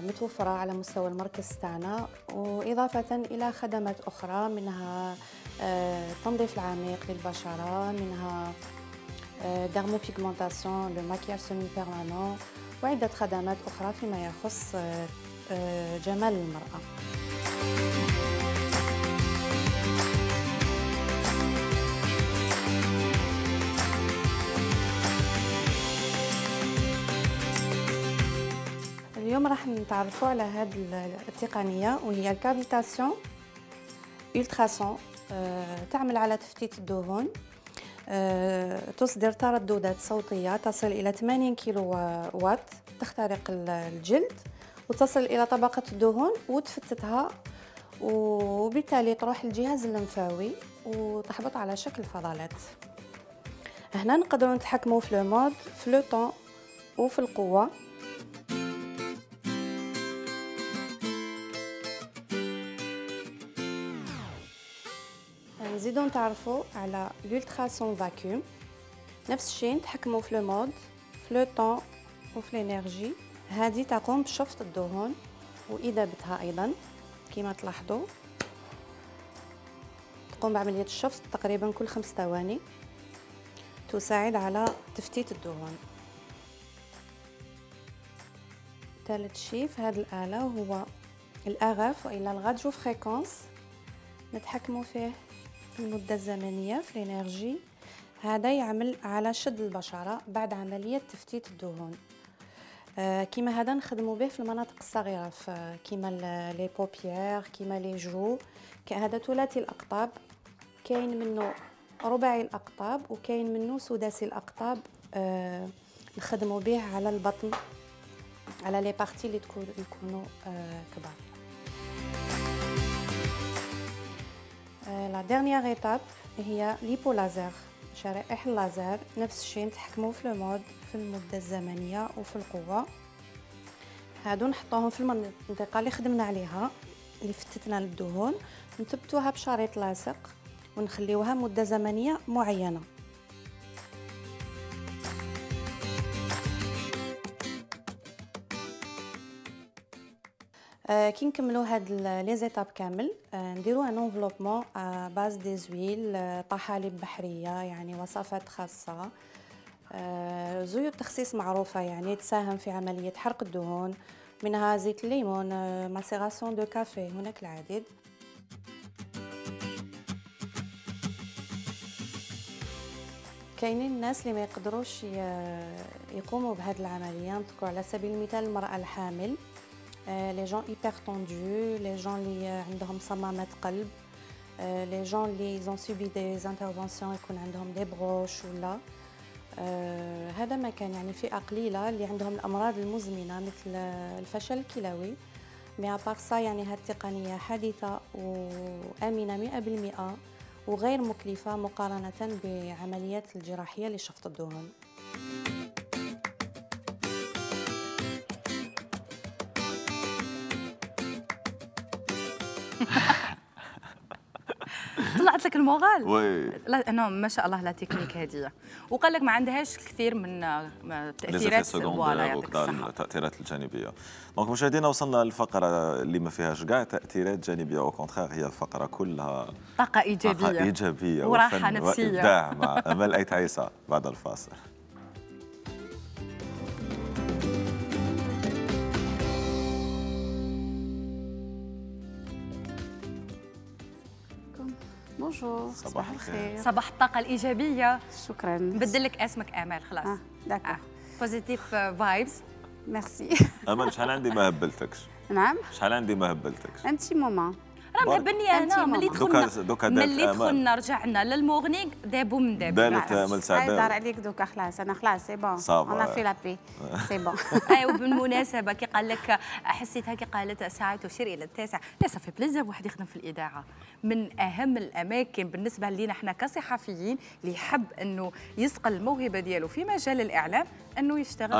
متوفرة على مستوى المركز تاعنا، وإضافة إلى خدمات أخرى منها التنظيف العميق للبشرة، منها ديرموبيغمونتاسيون، لو ماكياج سيمي بيرمانون، وعدة خدمات أخرى فيما يخص جمال المرأة. اليوم راح نتعرفوا على هذه التقنية وهي الكافيتاسيون ألتراسون. تعمل على تفتيت الدهون، تصدر ترددات صوتية تصل إلى 80 كيلو وات، تخترق الجلد وتصل إلى طبقة الدهون وتفتتها، وبالتالي تروح الجهاز اللمفاوي وتحبط على شكل فضلات. هنا نقدروا نتحكموا في لو مود، في لو طون وفي القوة. نزيدو نتعرفوا على لولتراسون فاكيوم، نفس الشيء نتحكموا في لو مود، في لو طون وفي الانرجي. هذه تقوم بشفط الدهون واذابتها ايضا كما تلاحظوا، تقوم بعمليه الشفط تقريبا كل 5 ثواني، تساعد على تفتيت الدهون. ثالث شيء في هذه الاله هو الاغاف والا الراديو فريكونس، نتحكموا فيه في المدة الزمنية، في الانرجي. هذا يعمل على شد البشرة بعد عملية تفتيت الدهون. كيما هذا نخدموا به في المناطق الصغيرة، كيما لي بوبيير، كيما لي جو. هذا ثلاثي الأقطاب، كاين منه رباعي الأقطاب وكاين منه سداسي الأقطاب. نخدموا به على البطن، على لي بارتي اللي يكونوا كبار. لا ديرنيير ايتاب هي ليبو لازر، شرائح اللازر. نفس الشيء نتحكموا في المود، في المده الزمنيه وفي القوه. هادو نحطوهم في المنطقه اللي خدمنا عليها، اللي فتتنا للدهون، نثبتوها بشريط لاصق ونخليوها مده زمنيه معينه. كي نكملوا هاد لي زيتاب كامل، نديروا ان انفلوبمون باز دي زويل، طحالب بحريه، يعني وصفات خاصه. زيوت تخسيس معروفه يعني تساهم في عمليه حرق الدهون، منها زيت الليمون، ماسيراسيون دو كافي، هناك العديد. كاينين الناس اللي ما يقدروش يقوموا بهذه العمليه. نذكر على سبيل المثال المراه الحامل، لي جون هيبر طوندو، لي جون اللي عندهم صمامات قلب، لي جون اللي زون سوبي دي انترفونسيون يكون عندهم دي بروش ولا هذا ما كان، يعني فئه قليله اللي عندهم الامراض المزمنه مثل الفشل الكلوي. مي ابار سا يعني هذه التقنيه حديثه وامنه 100% وغير مكلفه مقارنه بعمليات الجراحيه لشفط الدهون. طلعت لك المورال وي لا انا ما شاء الله لا تكنيك هذه، وقال لك ما عندهاش كثير من تاثيرات فوالا يعطيك الصحه التاثيرات الجانبيه. دونك مشاهدينا وصلنا للفقره اللي ما فيهاش كاع تاثيرات جانبيه، او كونتخير هي الفقره كلها طاقه ايجابيه، طاقه ايجابيه وراحه نفسيه وابداع مع امال ايت عيسى بعد الفاصل. بونجور صباح الخير. صباح الطاقه الايجابيه. شكرا. نبدل لك اسمك امال خلاص. داكور. بوزيتيف فايبس. ميرسي. امل شحال عندي ما هبلتكش. نعم. شحال عندي ما هبلتكش. انتي موما. راه مهبلني انا ملي دخلنا رجعنا للمورنينغ دابو من دابو. دارت امل سعداوي. دار عليك دوكا خلاص انا خلاص سي بون. انا في لابي سي بون. ايوا بالمناسبه كي قال لك حسيتها كي قالت ساعه تشير الى 9 لا صافي بليزير واحد يخدم في الاذاعه، من اهم الاماكن بالنسبه لينا احنا كصحفيين اللي يحب انه يسقل الموهبه ديالو في مجال الاعلام انه يشتغل.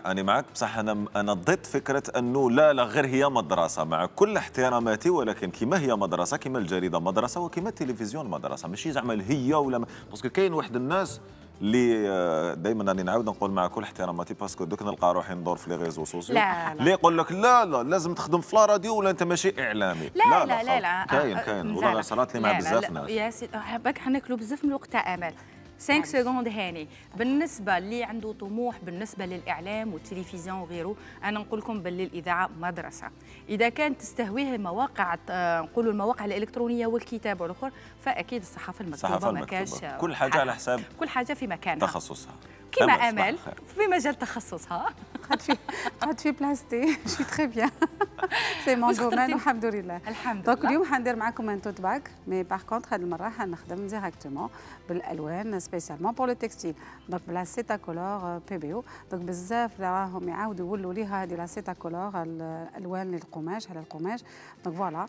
انا معك بصح انا ضد فكره انه لا غير هي مدرسه، مع كل احتراماتي، ولكن كما هي مدرسه كما الجريده مدرسه وكما التلفزيون مدرسه، ماشي زعما هي ولا باسكو كاين واحد الناس اللي دائما راني نعاود نقول مع كل احتراماتي باسكو دوك نلقى روحي ندور في لي ريزو سوسيو اللي يقول لك لا لازم تخدم في لا راديو ولا انت ماشي اعلامي. لا كاين والله صرات لي مع بزاف ناس. يا سيدي باك حناكلوا بزاف من الوقت تاع امل. 5 سكوند هاني بالنسبه اللي عنده طموح بالنسبه للاعلام والتلفزيون وغيره، انا نقول لكم باللي الاذاعه مدرسه. اذا كانت تستهويه المواقع نقولوا المواقع الالكترونيه والكتابه والاخر، فاكيد الصحافه المكتوبه ما كاش كل حاجه على حساب كل حاجه في مكانها تخصصها كما امل في مجال تخصصها. قعدت في بلاصتي شي تري بيان سي مون دومين والحمد لله. الحمد لله. دونك اليوم حندير معكم ان توت باك، مي باغ كونتخ هذه المره حنخدم ديريكتومون بالالوان سبيسيالمون بور لو تكستيل، دونك بلا سيتا كولور بي بي او. دونك بزاف راهم يعاودوا يولوا ليها هذه لا سيتا كولور الالوان للقماش على القماش. دونك فوالا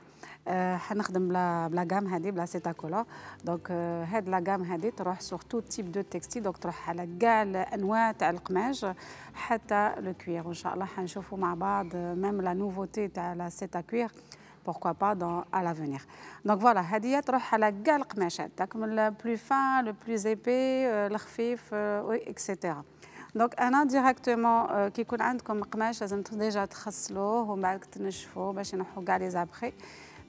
حنخدم بلا غام هذه بلا سيتا كولور. دونك هاد لا غام هذه تروح سور تو تيب دو تكستيل، دونك تروح على كاع الانواع تاع القماش حتى لو كوير، وان شاء الله حنشوفوا مع بعض ميم لا نوفوتي تاع لا سيتا كوير pourquoi pas dans à l'avenir. Donc voilà هذه تروح على كاع القماشات داك من لو بلو فان لو بلو ايبي الخفيف وي اكسيتيرا. دونك انا ديريكتومون كي يكون عندكم قماش لازم ديجا تغسلوه ومن بعد تنشفوه باش ينحوا كاع لي زابخي،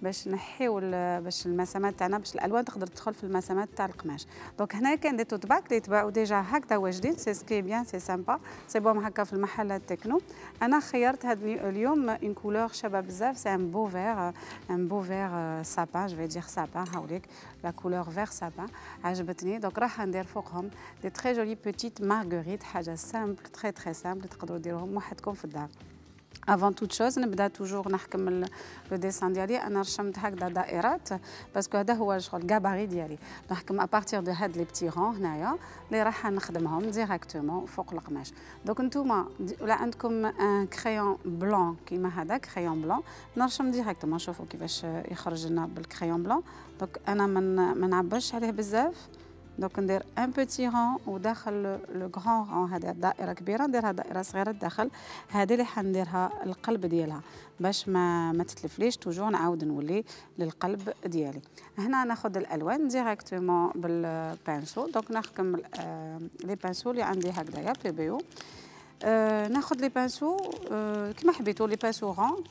باش نحيو باش المسامات تاعنا باش الالوان تقدر تدخل في المسامات تاع القماش. دونك هنا كاين دي توت باك اللي يتباعوا ديجا هكذا واجدين، سي سكي بيان سي سامبا سي بوم هكا في المحلات تكنو. انا خيرت هذا اليوم اون كولور شابه بزاف، سي ان بو فير سابان جو في دير سابان هاوليك لا كولور فير سابان عجبتني. دونك راح ندير فوقهم دي تري جولي بوتيت مارغريت، حاجه سامبل تري سامبل تقدروا ديروهم وحدكم في الدار. افون توت شوز نبدا توجور نحكم لو ديسان ديالي. انا رشمت هكذا دائرات باسكو هذا هو الشغل الكاباري ديالي، نحكم ابارتير دو هاد لي بتي رون هنايا اللي راح نخدمهم ديريكتومون فوق القماش. دونك نتوما ولا عندكم ان كريون بلون كيما هذا كريون بلون نرشم ديريكتومون. شوفوا كيفاش يخرج لنا بالكريون بلون. دونك انا ما نعبرش عليه بزاف، دونك ندير ان بوتي رون وداخل لو غران رون هذا دائره كبيره نديرها دائره صغيره الداخل. هذه اللي حنديرها القلب ديالها باش ما تتلفليش، توجور نعاود نولي للقلب ديالي. هنا ناخذ الالوان ديريكتومون بالبانسو. دونك نحكم لي بانسو اللي عندي هكذايا بي بي او. ناخذ لي بانسو كيما حبيتو، لي بانسو رون.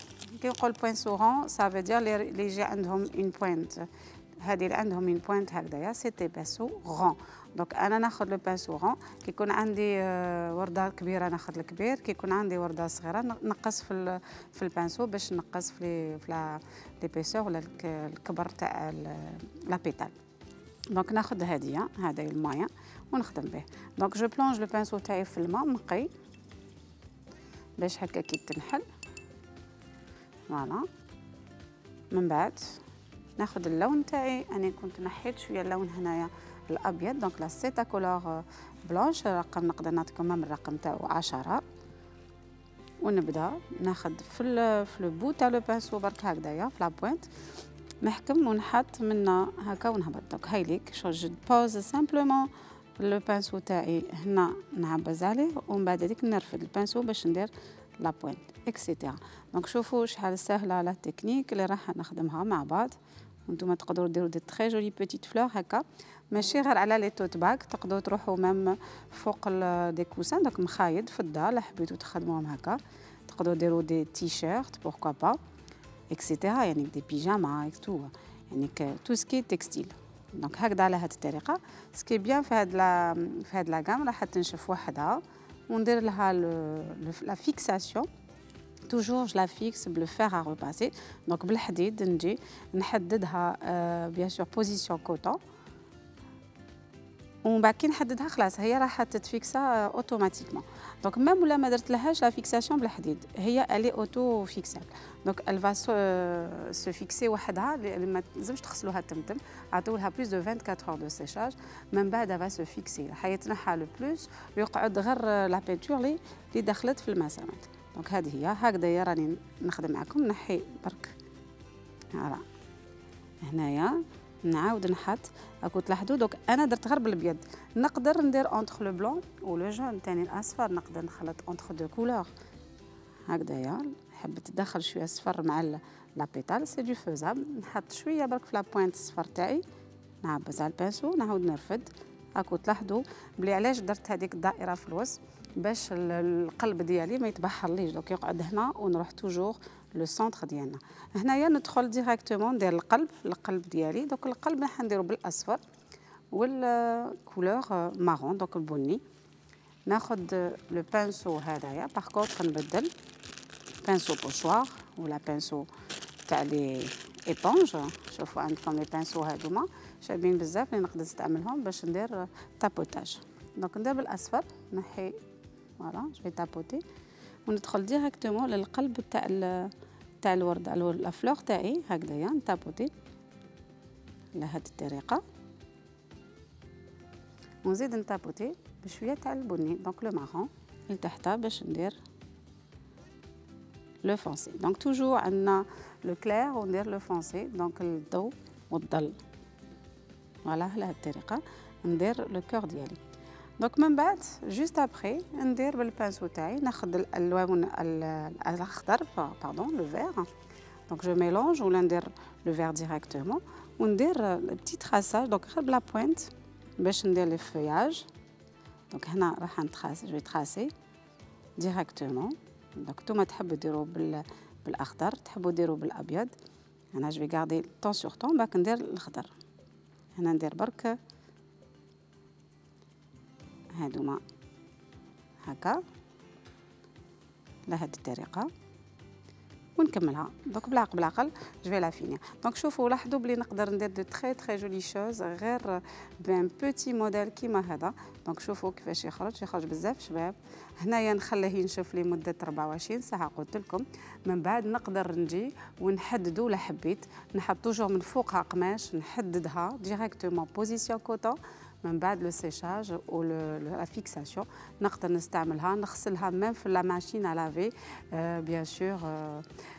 كي نقول بانسو رون سافو دير اللي يجي عندهم اون بوينت، هذه اللي عندهم من بوينت هكذايا سيتي بانسو رون. دونك انا ناخذ لو بانسو رون. كي يكون عندي ورده كبيره ناخذ الكبير، كي يكون عندي ورده صغيره نقص في البانسو باش نقص في ليبيسور ولا الكبر تاع لا بيتال. دونك ناخذ هذه المايا ونخدم به. دونك جو بلونج لو بانسو تاعي في الماء نقي باش هكا كي تنحل. فوالا من بعد ناخذ اللون تاعي. انا كنت نحيت شويه اللون هنايا الابيض، دونك لا سيتا كولور بلونش رقم نقدر نعطيكم من الرقم تاعو 10. ونبدا ناخذ في لو بو تاع لو بانسو برك هكذايا في لا بوينت نحكم ونحط منا هكا ونهبط. دونك هايليك شو جو بوز سامبلومون لو بانسو تاعي هنا نعبز عليه ومن بعد هذيك نرفد البانسو باش ندير لا بوينت اكسيتيرا. دونك شوفوا شحال سهله لا تكنيك اللي راح نخدمها مع بعض وانتم تقدروا ديروا دي تري جولي بيتيت فلور هكا ماشي غير على لي توت باك، تقدروا تروحوا ميم فوق دي كوسان دونك مخايد في الدار لا حبيتوا تخدموهم هكا. تقدروا ديروا دي تي شيرت بوركوا با اكسيتيرا، يعني دي بيجاما تو، يعني تو سكي تكستيل. دونك هكذا على هذه الطريقه. سكي بيان في هاد لا غام راح تنشف وحدها وندير لها لا فيكساسيون. توجور جو لا فيكس بلو فير ا ريباسي، دونك بالحديد نجي نحددها بيان سور بوزيسيون كوتون، ومن بعد كي نحددها خلاص هي راح تتفيكسا اوتوماتيكمون. دونك ميم ولا ما درت لهاش لا فيكساسيون بالحديد هي الي اوتو فيكسابل. دونك الفا سو فيكسي وحدها، ما لازمش تغسلوها تمتم، عطيولها بلوس دو 24 اور دو سيشاج، من بعد فا سو فيكسي حيتنحى لو بلوس ويقعد غير لا بينتور اللي دخلت في المسامات. دونك هذه هي هكذا راني نخدم معكم. نحي برك هلا هنايا نعاود نحط راكو تلاحظوا. دوك انا درت غير بالابيض، نقدر ندير اونتر لو بلون و لو جون ثاني الاصفر، نقدر نخلط اونتر دو كولور هكذايا. حبيت تدخل شويه صفر مع لا بيتال سي دو فوزابل. نحط شويه برك في لا بوينت الصفر تاعي، نعبز على البانسو نعاود نرفد. راكو تلاحظوا بلي علاش درت هذيك الدائره في الوسط باش القلب ديالي ما يتبحرليش، دوك يقعد هنا ونروح توجور لو سونتر ديالنا. هنايا ندخل ديريكتومون ندير القلب ديالي. دوك القلب راح نديرو بالاصفر والكولور مارون دوك البني. ناخذ لو بانسو هذايا باغ كونطخ نبدل بانسو بوشوار ولا بانسو تاع لي ايبونج. شوفوا عندكم لي بانسو هادوما شابين بزاف اللي نقدر نستعملهم باش ندير تابوتاج. دونك ندير بالاصفر نحي فوالا جو تابوتي وندخل ديريكتومون للقلب تاع الورد لا فلور تاعي هكذايا نتابوتي على هذه الطريقه ونزيد نتابوتي بشويه تاع البني دونك لو مارون لتحت باش ندير لو فونسي. دونك توجور عندنا لو كلير وندير لو فونسي دونك الضوء والظل فوالا على هذه الطريقه ندير لو كور ديالي. دونك من بعد جوست ابري ندير بالبانسو تاعي ناخذ الالوان الاخضر باردون لو فير دونك جو ميلونج ولا ندير لو فير ديريكتومون وندير بتي تراساج دونك غير بلا بوينت باش ندير لي فياج. دونك هنا راح نتراس جو تراسي ديريكتومون. دونك نتوما تحبوا ديروا بالاخضر تحبوا ديروا بالابيض. انا جو غاردي طون سور طون باك ندير الاخضر. هنا ندير برك هادوما هكا لهاد الطريقه ونكملها. دونك بالعقل جو في لا فيني. دونك شوفوا لاحظوا بلي نقدر ندير دو تري تري جولي شوز غير بان بوتي موديل كيما هذا. دونك شوفوا كيفاش يخرج بزاف شباب. هنايا نخليه ينشف لمده 24 ساعه قلت لكم. من بعد نقدر نجي ونحددو ولا حبيت نحط توجور من فوقها قماش نحددها ديريكتومون بوزيسيون كوتون. من بعد لو سيشاج و لا فيكساسيون نقدر نستعملها نغسلها ميم في لا ماشين ا لافي بيان سور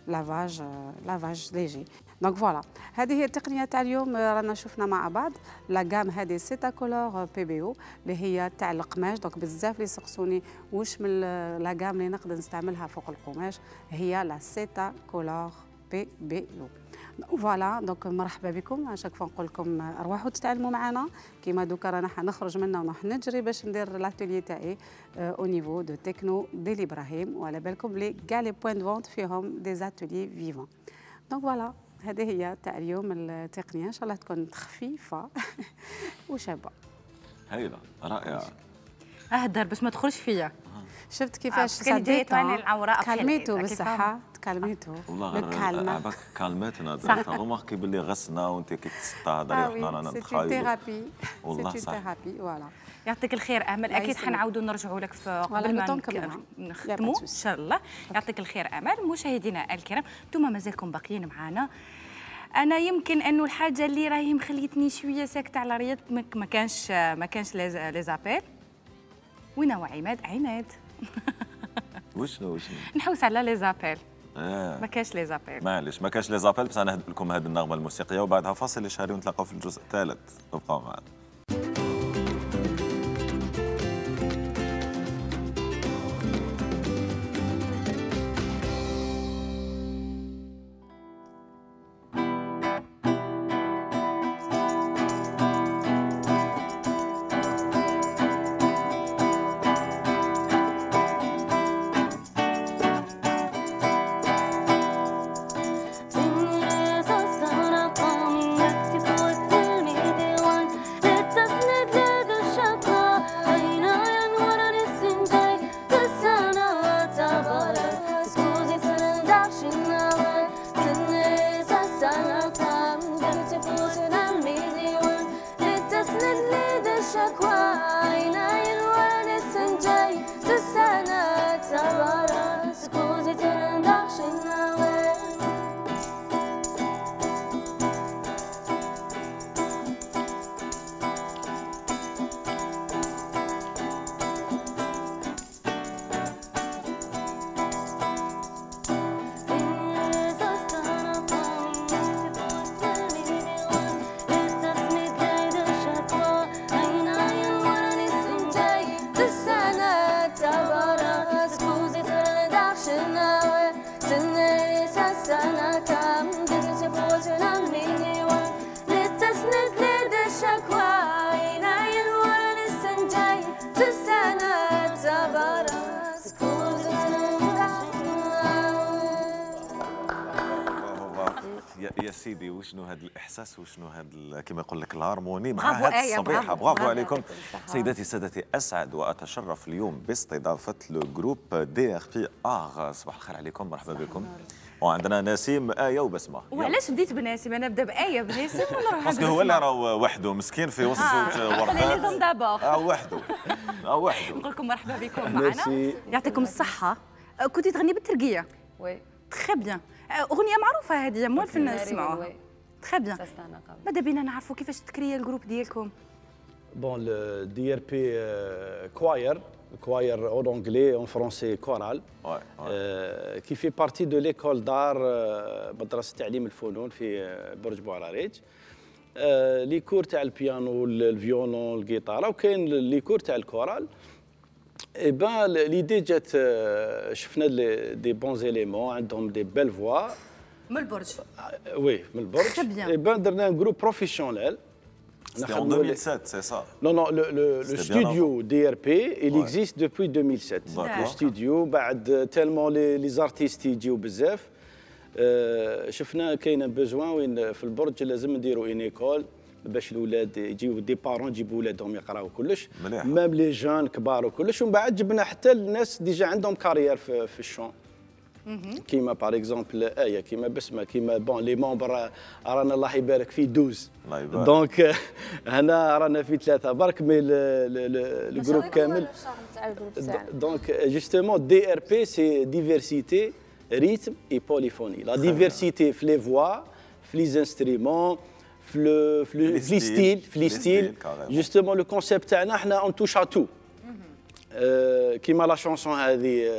لافاج ليجي. دونك فوالا هذه هي التقنيه تاع اليوم. رانا شفنا مع بعض لا غام هذه سيتا كولور بي بي او اللي هي تاع القماش. دونك بزاف اللي سقسوني واش من لا غام اللي نقدر نستعملها فوق القماش هي لا سيتا كولور بي بي او. فوالا دونك مرحبا بكم. اشاك فوا نقول لكم ارواحوا تتعلموا معنا كيما دوكا رانا حنخرج منا ونروح نجري باش ندير لاتولي تاعي او نيفو دو تكنو ديال ابراهيم وعلى بالكم بلي كاع لي بوين دو فونت فيهم دي زاتولي فيفون. دونك فوالا هذه هي تاع اليوم التقنيه ان شاء الله تكون خفيفه وشابه. هايله رائعه. اهدر باش ما تدخلش فيا. شفت كيفاش كان جايت وين العوراء كلميتو بالصحه تكلميتو والله كالمتنا رماركي باللي غسنا وانت كي تستهضري وحنا رانا نتخايلوا ثيرابي والله صح ثيرابي فوالا. يعطيك الخير امل. اكيد حنعاودوا نرجعوا لك في قبل ما نختموا ان شاء الله. يعطيك الخير امل. مشاهدينا الكرام انتم مازالكم باقيين معنا. انا يمكن انه الحاجه اللي راهي مخليتني شويه ساكته على رياض ما كانش لي زابيل. وين هو عماد وشنو نحوس على لي زابيل. ما كاش لي زابيل معليش ما كاش لي زابيل بس انا نهدي لكم هذه النغمه الموسيقيه وبعدها فاصل شهري ونتلاقاو في الجزء الثالث. ابقوا معنا. يا سيدي وشنو هذا الاحساس وشنو هذا كما يقول لك الهارموني مع برافو هذه آية، الصبيحه. برافو. برافو عليكم سيداتي سادتي. اسعد واتشرف اليوم باستضافه لو جروب دي ار بي ار. صباح الخير عليكم، مرحبا بكم. وعندنا نسيم، آية وبسمة. وعلاش بديت بناسيم؟ انا نبدا بآية بناسيم ونروح باسكو هو اللي راه وحده مسكين في وسط وردات. وحده وحده. نقول لكم مرحبا بكم معنا، يعطيكم الصحة. كنتي تغني بالتركية؟ وي تخي بيان. أغنية معروفة هذه موالفين نسمعوها. تخي بيان. ماذا بينا نعرفوا كيفاش تكريا الجروب ديالكم؟ بون le DRP choir en anglais, en français choral, qui fait partie de l'école d'art مدرسة تعليم الفنون في برج بوعراريج. لي كور تاع البيانو، الفيولون، الجيتار، وكاين لي كور تاع الكورال. اي بان ليدي جات، شفنا دي بون زيليمون عندهم دي بيل فوا من البرج. وي من البرج. اي بان درنا un groupe professionnel. C'était en 2007, c'est ça? Non, non, le studio DRP, il existe depuis 2007. Le studio, بعد tellement les artistes يجيو بزاف. شفنا كاين بوزوان وين في البرج لازم نديروا ان ايكول باش الاولاد يجيو دي بارون يجيبوا ولادهم يقراوا كلش، ميم لي جون كبار وكلش. ومن بعد جبنا حتى الناس ديجا عندهم كارير في الشون، كيما باغ اكزومبل آية، كيما بسمة، كيما بون لي ممبر رانا الله يبارك فيه 12. دونك هنا رانا في 3 برك، مي الجروب كامل. دونك جوستومون دي ار بي سي ديفيرسيتي ريتم اي بوليفوني. لا ديفيرسيتي في لي فوا، في لي انسترومون، في لي ستيل. جوستومون لو كونسيبت تاعنا حنا اون توش ا تو. كيما لا شونسون هذه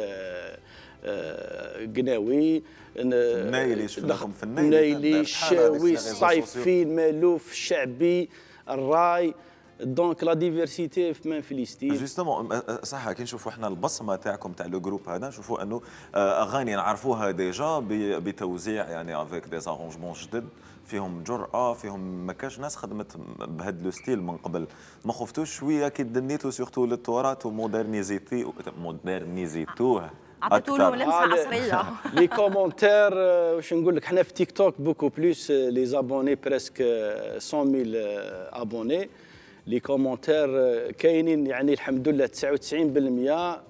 قناوي، النايلي، شفناكم في النايلي، الشاوي، الصيفي، المالوف، الشعبي، الراي. دونك لا ديفيرسيتي في لي ستيل. جوستومون صح، كي نشوفوا احنا البصمه تاعكم تاع لو جروب هذا، نشوفوا انه اغاني نعرفوها ديجا بتوزيع يعني افيك دي زارونجمون جدد، فيهم جرأة، فيهم ما كاش ناس خدمت بهذا لو ستيل من قبل. ما خفتوش شويه كي دنيتوا سورتو للتراث ومودرنيزيتوه عطيتوا له لمسه عصريه؟ لي كومونتير واش نقول لك، حنا في تيك توك بوكو بلوس لي زابوني بريسك 100,000 ابوني. لي كومونتير كاينين يعني الحمد لله 99%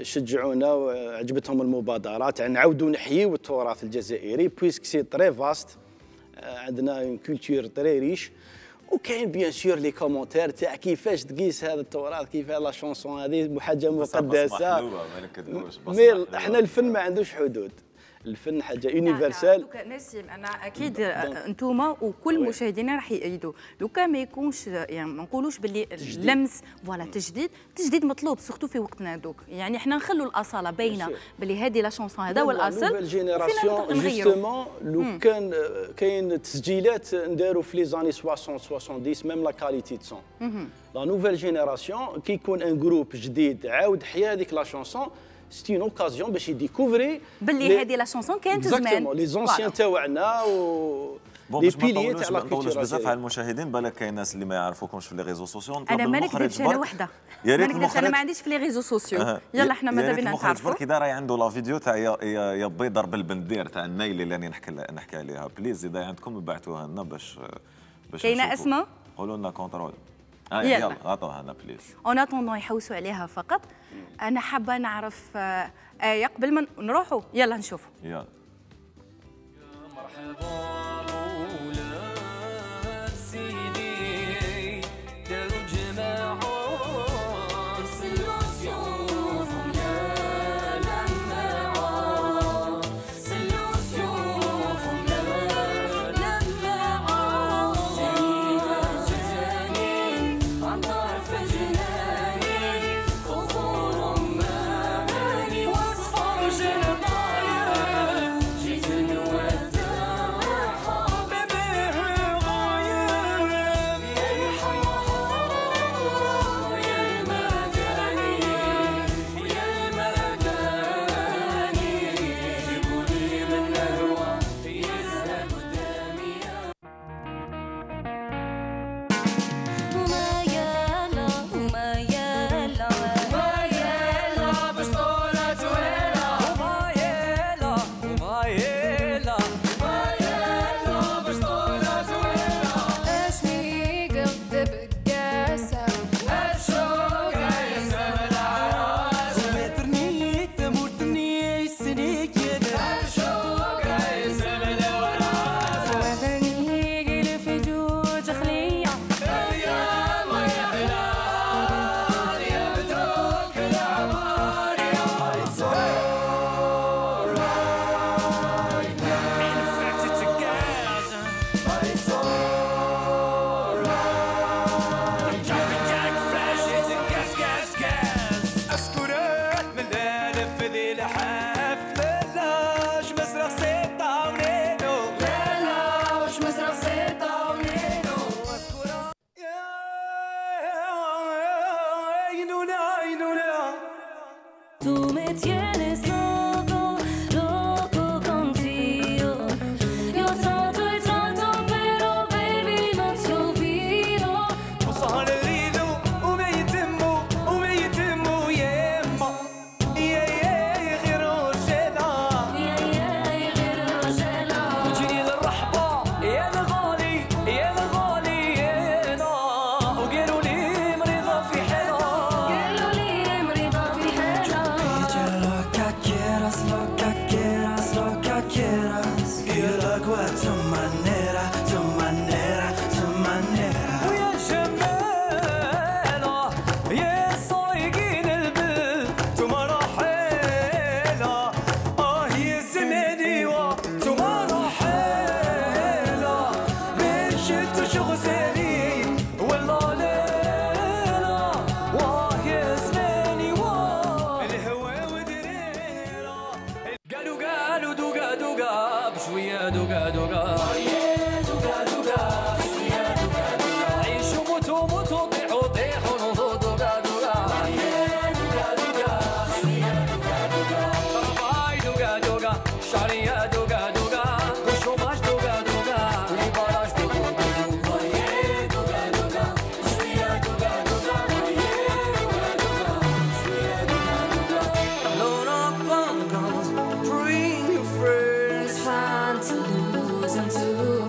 شجعونا وعجبتهم المبادرات، يعني نعاودوا نحييو التراث الجزائري بويسك سي تري فاست. عندنا اون كولتور تري ريش. وكاين بيان سور لي كومونتير تاع كيفاش تقيس هذا التراث، كيف لا شونسون هذه حاجه مقدسه. مي احنا الفن ما عندوش حدود، الفن حاجه يونيفرسال. نسيم، انا اكيد انتوما وكل مشاهدينا راح يأيدوا لو كان ما يكونش، يعني ما نقولوش باللي اللمس فوالا تجديد مطلوب سورتو في وقتنا دوك. يعني احنا نخلوا الاصاله باينه باللي هذه لا شونسون هذا هو الاصل. نوفيل جينيراسيون جوستومون لو كان كاين تسجيلات نداروا في لي زاني 60 70 ميم لا كاليتي دو سون. لا نوفيل جينيراسيون كي يكون ان جروب جديد عاود حيا هذيك لا شونسون، سي اون اوكازيون باش يديكوفري باللي هذه لا شونسون كانت زمان. لي زونسيان تاعنا و لي بيليي تاع لا كولتور. بزاف على المشاهدين، بالك كاين ناس اللي ما يعرفوكمش في لي ريزو سوسيو. انا ما نكذبش، انا وحده ما نكذبش، انا ما عنديش في لي ريزو سوسيو. يلا احنا ماذا بينا نتعرفوا. برك راهي عنده لا فيديو تاع يا بي ضرب البندير تاع النايل اللي راني نحكي عليها. بليز اذا عندكم ابعثوها لنا باش كاينه اسمها، قولوا لنا كونترول. يلا عطوها لنا بليز. اون اتوندون يحوسوا عليها فقط. انا حابه نعرف آية قبل ما نروحوا. يلا نشوفوا. يلا. دوغا بشويه دوغا دوغا دوغا دوغا بشويه دوغا دوغا عيشوا موتوا موتوا طيحوا طيحوا نوضوا دوغا دوغا دوغا دوغا بشويه دوغا دوغا طرفاي دوغا دوغا شعريه دوغا دوغا والشوماج دوغا دوغا والبراج دوغا دوغا دوغا دوغا بشويه دوغا دوغا دوغا دوغا بشويه دوغا دوغا load up on guns bring your friends trying to lose and to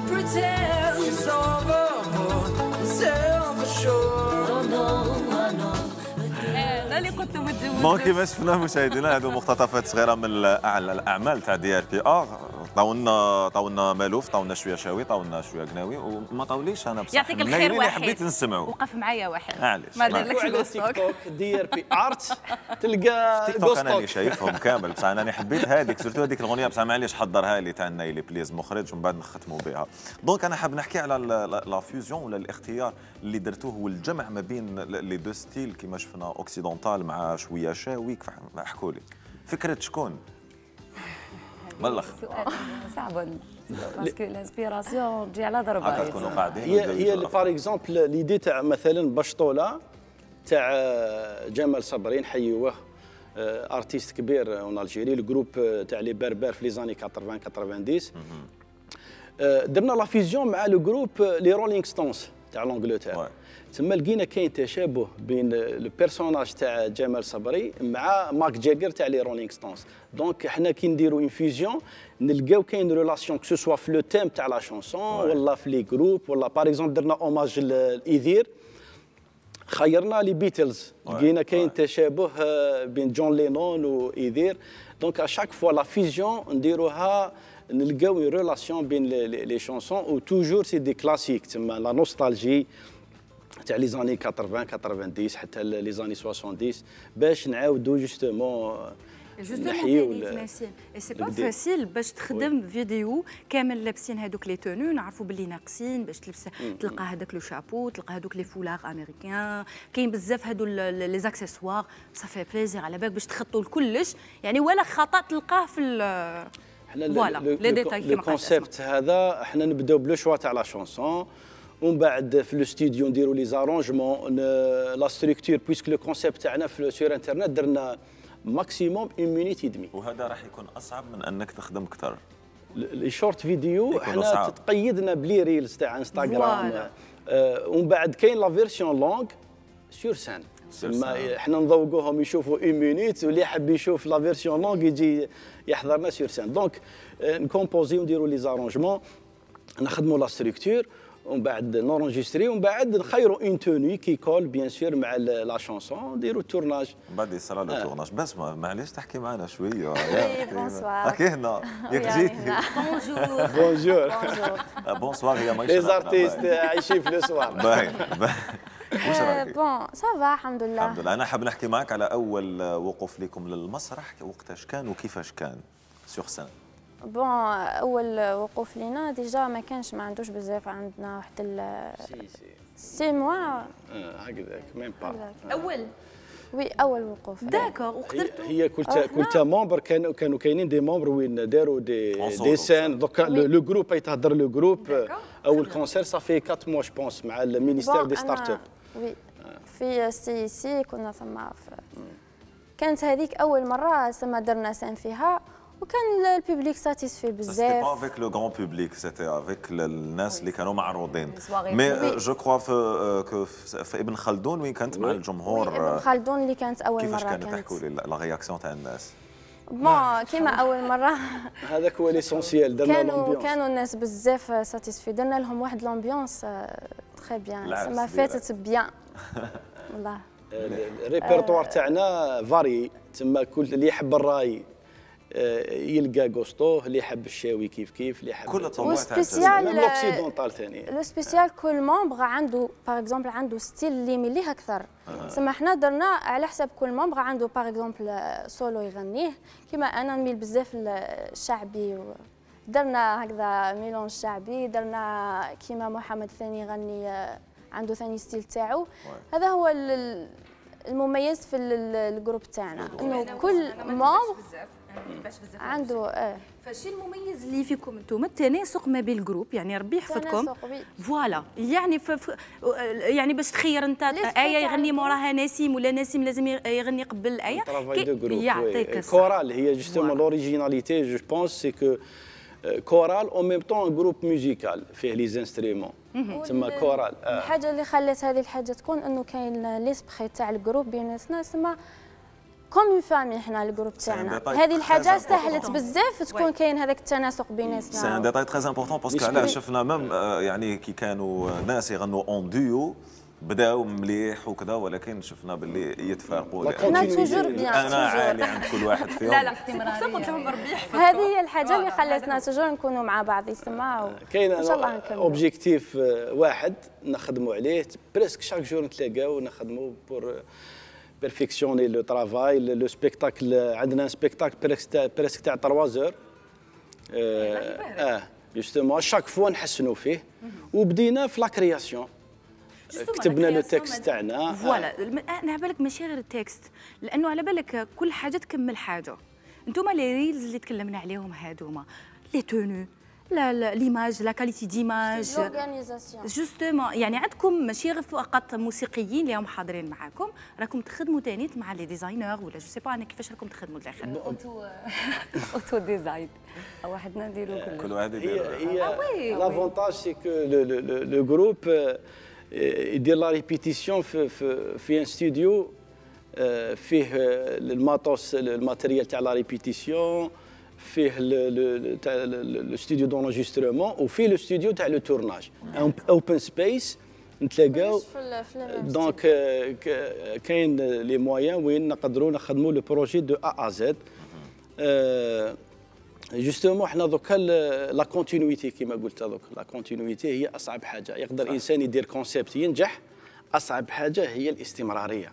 pretend it's over self assured oh no I know هذا اللي كنت متجوز. دونك كيما شفنا مشاهدينا هذو مقتطفات صغيره من الاعمال تاع دي ار بي ار. طاولنا مالوف، طاولنا شويه شاوي، طاولنا شويه قناوي، وما طاوليش انا بصح يعطيك الخير واحد حبيت نسمعوا. وقف معايا واحد معليش ما دارلكش على الوسط. تيك توك دي ار بي ارت تلقى تيك توك انا اللي شايفهم كامل، بصح انا حبيت هذيك سورتو هذيك الاغنيه، بصح معليش حضرها لي تاع نايلي بليز مخرج ومن بعد نختموا بها. دونك انا حاب نحكي على لا فيوزيون ولا الاختيار اللي درتوه والجمع ما بين لي دو ستيل كيما شفنا اوكسيدونتال مع شويه شاوي. احكوا لي فكره شكون؟ ملخ صعب باسكو الانسبيراسيون تجي على ضربه. تكونوا قاعدين هي باغ اكزومبل ليدي تاع مثلا بشطوله تاع جمال صبري نحيوه ارتيست كبير اون الجيري الجروب تاع لي بربر في لي زاني 80 90 درنا لا فيزيون مع لو جروب لي رولينغ ستونز تاع لونجلتير. تما لقينا كاين تشابه بين البيرسوناج تاع جمال صبري مع ماك جاجر تاع لي رولينغ ستونز. دونك حنا كي نديروا اون فيزيون نلقاو كاين ريلاسيون كو سوا في لو تيم تاع لا شونسون ولا في لي جروب ولا باغ اكزومبل درنا اوماج لايذير خيرنا لي بيتلز لقينا كاين تشابه بين جون لينون وايذير. دونك اشاك فوا لا فيزيون نديروها نلقاو اون ريلاسيون بين لي شونسون و توجور سي دي كلاسيك تما لا نوستالجي تاع لي زاني 80 90 حتى لي زاني 70 باش نعاودوا جوستومون نحيو التماثيل. سي با فاسيل باش تخدم فيديو كامل لابسين هذوك لي تونو، نعرفوا باللي ناقصين باش تلبس تلقى هذاك لو شابو، تلقى هذوك لي فولاغ امريكان، كاين بزاف هذو لي زاكسيسوار. صافي بليزير على بالك باش تخطوا لكلش يعني ولا خطا تلقاه في فوالا لي ديتاي كيما قلت. الكونسيبت هذا احنا نبداو بلو شوا تاع لا شونسون ومن بعد في الاستوديو نديروا لي زارونجمون لا ستركتور بويسك لو كونسيبت تاعنا في سور انترنت درنا ماكسيموم 1 مينيت ودمي. وهذا راح يكون اصعب من انك تخدم اكثر. لي شورت فيديو احنا تقيدنا بلي ريلز تاع انستغرام ومن بعد كاين لا فيرسيون لونغ سور سان احنا نذوقوهم يشوفوا 1 مينيت واللي يحب يشوف لا فيرسيون لونغ يجي يحضرنا سور سان. دونك نكومبوزي ونديروا لي زارونجمون نخدموا لا ستركتور ومن بعد نورونجستري ومن بعد نخيروا اون توني كي كول بيان سور مع لا شونسون نديروا التورناج. من بعد يصرى له تورناج. بس معليش تحكي معنا شويه. بونسوار. هاكي هنا ياك جيتي. بونجور. بونجور. بونسوار هي ماشي. لي زارتيست عايشين في لو سوار. باين. واش رايك؟ بون سافا الحمد لله. الحمد لله. انا حاب نحكي معك على اول وقوف لكم للمسرح، وقتاش كان وكيفاش كان سور سان؟ بون اول وقوف لينا ديجا ما كانش ما عندوش بزاف، عندنا واحد 6 موا هكذاك ميم با اول وي اول وقوف. داكور. وقدرتوا هي كلتا ممبر كانوا كاينين دي ممبر وين داروا دي سان. دوكا لو جروب يتهضر لو جروب اول كونسير صافي 4 موا جو بونس مع المينيستير دي ستارت اب. وي في سي كنا ثم كانت هذيك اول مره ثم درنا سان فيها وكان البوبليك ساتيسفي بزاف. سيتي با افيك لو غران بوبليك، سيتي افيك الناس اللي كانوا معروضين. مي جو كخوا في ابن خلدون وين كانت مع الجمهور. ابن خلدون اللي كانت اول مره كيفاش كانت تحكوا لي لا رياكسيون تاع الناس؟ بون كيما اول مره هذاك هو ليسونسيال. درنا لومبيونس كانوا الناس بزاف ساتيسفي، درنا لهم واحد لومبيونس تري بيان ما فاتت بيان والله. الريبرتوار تاعنا فاري تما كل اللي يحب الراي يلقى غوستو، اللي يحب الشاوي كيف اللي يحب كل الطبوع تاع لوكسيدونتال ثاني. لو سبيسيال كل ممبر عنده باغ اكزومبل عنده ستيل اللي يميليه اكثر. سما حنا درنا على حسب كل ممبر عنده باغ اكزومبل سولو يغنيه، كيما انا نميل بزاف الشعبي درنا هكذا ميلون شعبي، درنا كيما محمد ثاني يغني عنده ثاني ستيل تاعو. هذا هو المميز في الجروب تاعنا انه كل ممبر عنده فالشيء المميز اللي فيكم انتم التناسق ما بين الجروب، يعني ربي يحفظكم فوالا، يعني يعني باش تخير انت ايه يغني موراها نسيم ولا نسيم لازم يغني قبل الايه يعطيك كورال. هي جوستومون لوريجيناليتي جو بونس سي كو كورال او ميم طون جروب ميوزيكال فيه لي زانسترومون تسمى كورال. الحاجه اللي خلات هذه الحاجه تكون انه كاين ليسبري تاع الجروب بيناتنا تسمى كوم اون فامي. حنا الجروب تاعنا هذه الحاجه سهلت بزاف تكون كاين هذاك التناسق بيناتنا. سي ان ديتاي تري امبورطون باسكو علاه شفنا ميم يعني كي كانوا ناس يغنوا اون ديو بداو مليح وكذا، ولكن شفنا باللي يتفارقوا. انا توجور بيان انا عالي عند كل واحد فيهم. لا قلت لهم ربي يحفظكم. هذه هي الحاجه اللي خلاتنا توجور نكونوا مع بعض يسمعوا. كاين اوبجيكتيف واحد نخدموا عليه بريسك شاك جور نتلاقاو ونخدموا بور بيرفيكسيوني لو ترافاي لو سبيكتاكل. عندنا سبيكتاكل بريسك تاع 3 زور جوستومون شاك فوا نحسنوا فيه. وبدينا في لا كرياسيون، كتبنا لو تكست تاعنا فوالا. انا على بالك ماشي غير التكست، لانه على بالك كل حاجه تكمل حاجه. انتم لي ريلز اللي تكلمنا عليهم هادوما لي تونو لا ليماج لا كاليتي ديماج لورغانيزاسيون جوستومون، يعني عندكم ماشي غير فقط موسيقيين اللي هم حاضرين معاكم، راكم تخدموا ثاني مع لي ديزاينر ولا جو سي با انا كيفاش راكم تخدموا الاخر. اوتو ديزاين واحد نديرو كل واحد يدير. هي لافونتاج سي كو لو جروب يدير لا ريبيتيسيون في ان ستوديو فيه الماتوس الماتيريال تاع لا ريبيتيسيون، فيه لو ستوديو دونجسترومون وفيه لو ستوديو تاع لو تورناج اوبن سبيس نتلاقاو. دونك كاين لي مويان وين نقدروا نخدموا لو بروجي دو ا زد. جوستومون حنا دوكا لا كونتينيتي كيما قلت دوك لا كونتينيتي هي اصعب حاجه. يقدر الانسان يدير كونسيبت ينجح، اصعب حاجه هي الاستمراريه.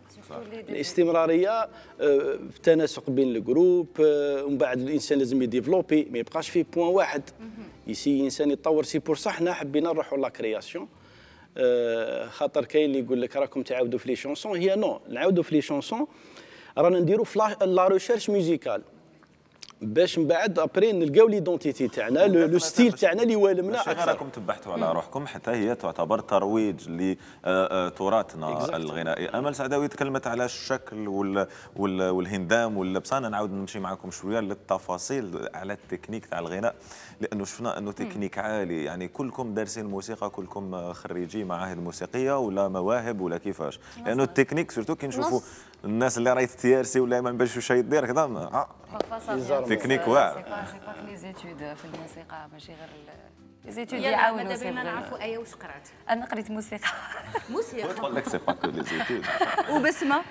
الاستمراريه في التناسق بين الجروب، ومن بعد الانسان لازم يديفلوبي ما يبقاش في بوان واحد. يسي الانسان يتطور. سي بور صح حنا حبينا نروحوا لا كرياسيون. خاطر كاين اللي يقول لك راكم تعاودوا في لي شونسون. هي نو نعاودوا في لي شونسون رانا نديروا في لا ريشيرش ميوزيكال باش من بعد ابري نلقاو ليدونتيتي تاعنا لو ستيل تاعنا اللي والمنا اكثر. راكم تبحثوا على روحكم حتى هي تعتبر ترويج لتراثنا الغنائي. امل سعداوي تكلمت على الشكل والهندام واللبس. انا نعاود نمشي معكم شويه للتفاصيل على التكنيك تاع الغناء، لانه شفنا انه تكنيك عالي. يعني كلكم دارسين موسيقى، كلكم خريجي معاهد موسيقيه ولا مواهب ولا كيفاش؟ لانه التكنيك سورتو كي نشوفوا الناس اللي راهي تيارسي ولا ما نبانش واش يدير كذا تكنيك واعر. سي با لي زيتود في الموسيقى ماشي غير لي زيتود يعاونوا. ماذا بينا نعرفوا ايه واش قرات؟ انا قريت موسيقى. تقول لك سي با كو لي زيتود. وبسمه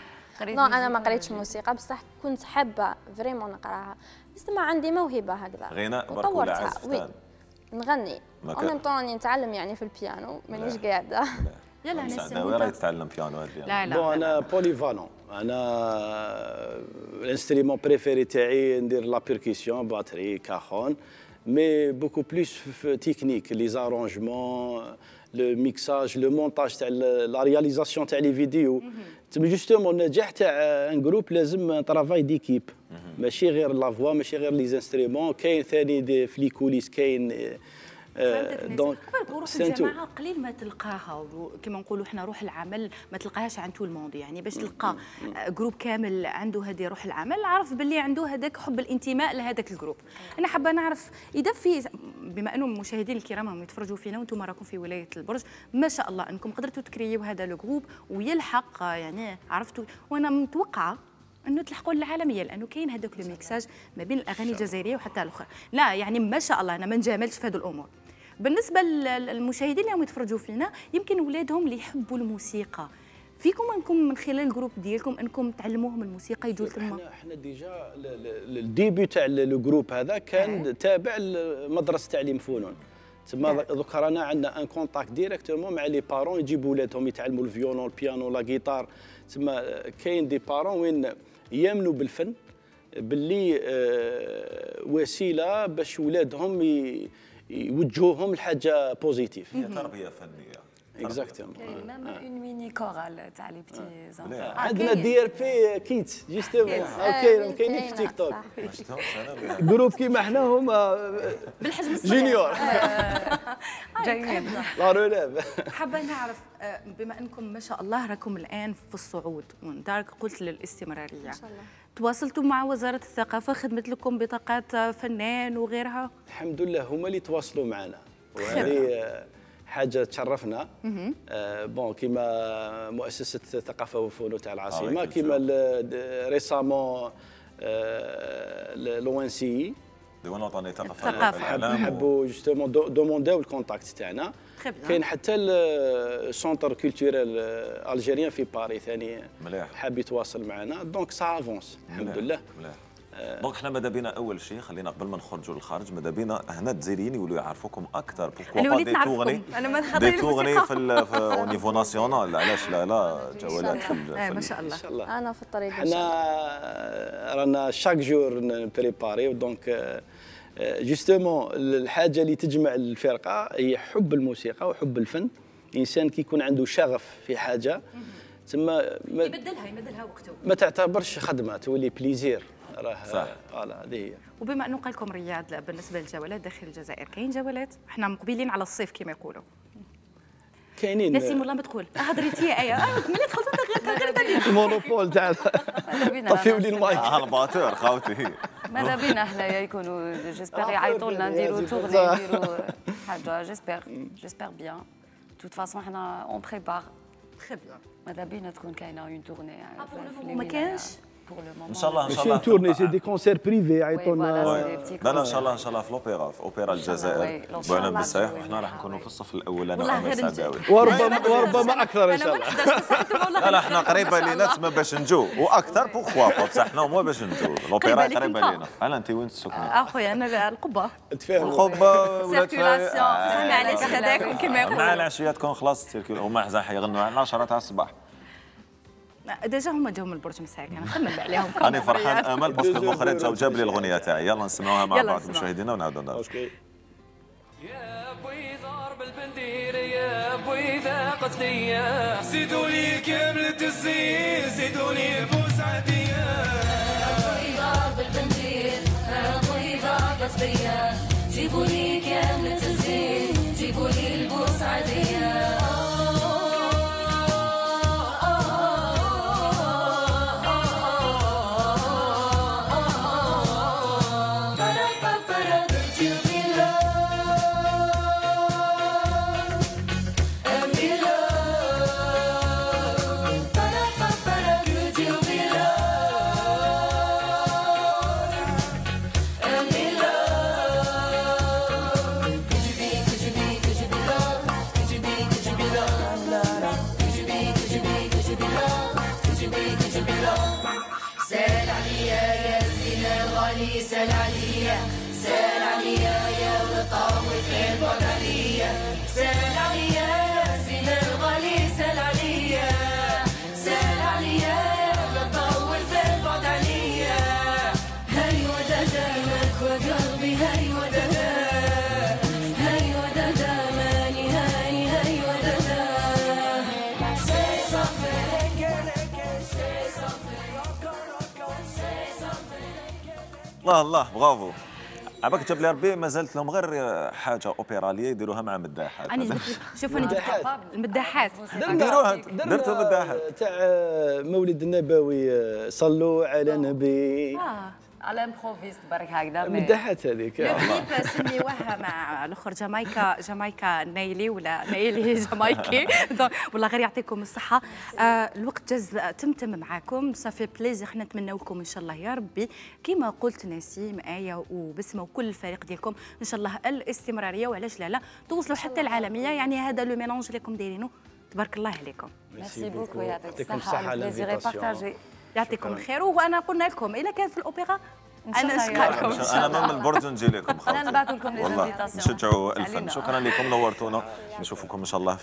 نو انا ما قريتش موسيقى بصح كنت حابه فريمون نقراها. بس ما عندي موهبه هكذا غناء برك ولا عزف؟ نغني او ميم طون نتعلم يعني في البيانو مانيش قاعده. يلا نسعداوي راهي تتعلم بيانو هذه. لا بون انا بوليفالون. انا الانسترومون بريفيري تاعي ندير لا بيركسيون باتري كاخون مي بوكو بلوس في تكنيك لي زارونجمون لو ميكساج لو مونتاج تاع لا رياليزاسيون تاع لي فيديو. تسمى جوستومون النجاح تاع ان جروب لازم ترافاي ديكيب ماشي غير لا فوا ماشي غير لي انسترومون. كاين ثاني في لي كوليس كاين دونك روح الجماعه قليل ما تلقاها كما نقولوا احنا روح العمل ما تلقاهاش عند تو الموند. يعني باش تلقى جروب كامل عنده هذه روح العمل عرف باللي عنده هذاك حب الانتماء لهذاك الجروب. انا حابه نعرف اذا في بما انه المشاهدين الكرام هم يتفرجوا فينا وانتم راكم في ولايه البرج ما شاء الله انكم قدرتوا تكريوا هذا الجروب ويلحق يعني عرفتوا. وانا متوقعه انه تلحقوا للعالميه لانه كاين هذاك الميكساج ما بين الاغاني الجزائريه وحتى الاخرى. لا يعني ما شاء الله انا ما نجاملش في هذه الامور. بالنسبه للمشاهدين اللي يتفرجوا فينا يمكن اولادهم اللي يحبوا الموسيقى فيكم انكم من خلال الجروب ديالكم انكم تعلموهم الموسيقى يجوا تما. احنا ديجا الديبي تاع الجروب هذا كان تابع لمدرسه تعليم فنون. تما دوك رانا عندنا ان كونتاكت ديريكتومون مع لي بارون يجيبوا ولادهم يتعلموا الفيولون البيانو لا غيتار. تما كاين دي بارون وين يامنوا بالفن باللي وسيله باش ولادهم يوجهوهم لحاجه بوزيتيف. هي تربيه فنيه. اكزاكتومون. ميم اون ميني الكورال تاع لي بتي زانفون. عندنا دي ار بي كيتس جوستومون اوكي كاينين في تيك توك جروب كيما حنا هما بالحجم الصغير جونيور جايين لا روليف. حابه نعرف بما انكم ما شاء الله راكم الان في الصعود ودارك قلت للاستمراريه ان شاء الله. تواصلتوا مع وزاره الثقافه، خدمت لكم بطاقات فنان وغيرها؟ الحمد لله هما اللي تواصلوا معنا وهذه حاجه تشرفنا. بون كيما مؤسسه الثقافه والفنون تاع العاصمه كيما ريسامون لو ان سي ديوان وطني الثقافه حبوا جوستومون دومونداو الكونتاكت تاعنا. كاين حتى السونتر كولتوريل الجيريان في باريس ثاني حاب يتواصل معنا دونك سا افونس الحمد لله. دونك حنا ماذا بينا اول شيء خلينا قبل ما نخرجوا للخارج ماذا بينا هنا الجزائريين يولوا يعرفوكم اكثر بوركوا دي تغني دي تغني في او نيفو ناسيونال علاش لا جولات في ما شاء الله. انا في الطريق حنا رانا شاك جور نبريباري دونك جوستومون الحاجه اللي تجمع الفرقه هي حب الموسيقى وحب الفن. الانسان كي يكون عنده شغف في حاجه تما يبدلها وقته ما تعتبرش خدمه تولي بليزير راه فوالا هذه هي. وبما انه قال لكم رياض بالنسبه للجولات داخل الجزائر كاين جولات؟ احنا مقبلين على الصيف كما يقولوا. كاينين نسيم والله ما تدخل هضريتي ايه ملي دخلت غير المونوبول تاع طفيوا لي المايك الباتور خاوتي. ماذا بينا حنايا يكونوا جيسبيغ يعيطوا لنا نديروا تورني نديروا حاجه جيسبيغ بيان. توت فاسون حنا اون بريبار تري بيان. ماذا بينا تكون كاينه اون تورني ما كانش ان شاء الله ماشي تورني سي دي كونسير بريفي يعيطونا. لا ان شاء الله في الاوبرا في اوبرا الجزائر بوعنا بالسايح وحنا راح نكونوا في الصف الاول انا وعمر سعداوي وربما اكثر ان شاء الله. لا حنا قريبه لينا تما باش نجو واكثر بوغوا بصح حنا مو باش نجو الاوبرا قريبه لينا. انا انت وين تسكني؟ اخويا انا القبه القبه ولا معليش هذاك كما يقولوا مع العشيه تكون خلاص تسيركل هما حزاح يغنوا على 10 تاع الصباح. ديجا هما جاو من البرج مساك انا خمم عليهم. انا فرحان امل باسكو المخرج جاب لي الاغنيه تاعي. يلا نسمعوها مع بعض مشاهدينا ونعاودوا نرجعوا. يا بوي ضرب البندير يا بوي ذاقت ليا زيدوا لي كاملة الزين زيدوا لي البوسعدية. يا بوي ضرب البندير يا بوي ذاقت ليا جيبوا لي كاملة الزين جيبوا لي البوسعدية. سال عليا يا زينة الغالي سال عليا سال عليا يا ولطاوي في البعد عليا سال عليا يا زينة الغالي سال عليا سال عليا يا ولطاوي في البعد عليا. هاي ودادا مالك وقلبي هاي ودادا هاي ودادا ماني هاني هاي ودادا say something say something. الله برافو. عباك جاب لي ربي ما زالت لهم غير حاجه اوبراليه يديروها مع مداحات. شوف انا المداحات ديروها درتوا المداحات تاع مولد النبوي صلوا على النبي على امبروفيست برك هكذا مداحات هذيك. الكليب سميوها مع الاخر جامايكا نايلي ولا نايلي جامايكي والله غير يعطيكم الصحه. الوقت جاز تمتم معاكم صافي بليزير. حنا نتمنوا لكم ان شاء الله يا ربي كيما قلت نسيم آية وبسمه وكل الفريق ديالكم ان شاء الله الاستمراريه وعلاش لا توصلوا حتى العالميه. يعني هذا لو ميلونج اللي راكم دايرينه تبارك الله عليكم. ميرسي بوكو يعطيكم الصحه البليزير بارطاجي. يعطيكم الخير. وانا قلنا لكم اذا كان في الاوبرا انا نشكركم. انا من البرج نجي لكم انا نبعث لكم لي زانفيتاسيون. نشجعوا الفن. شكرا لكم نورتونا. نشوفكم ان شاء الله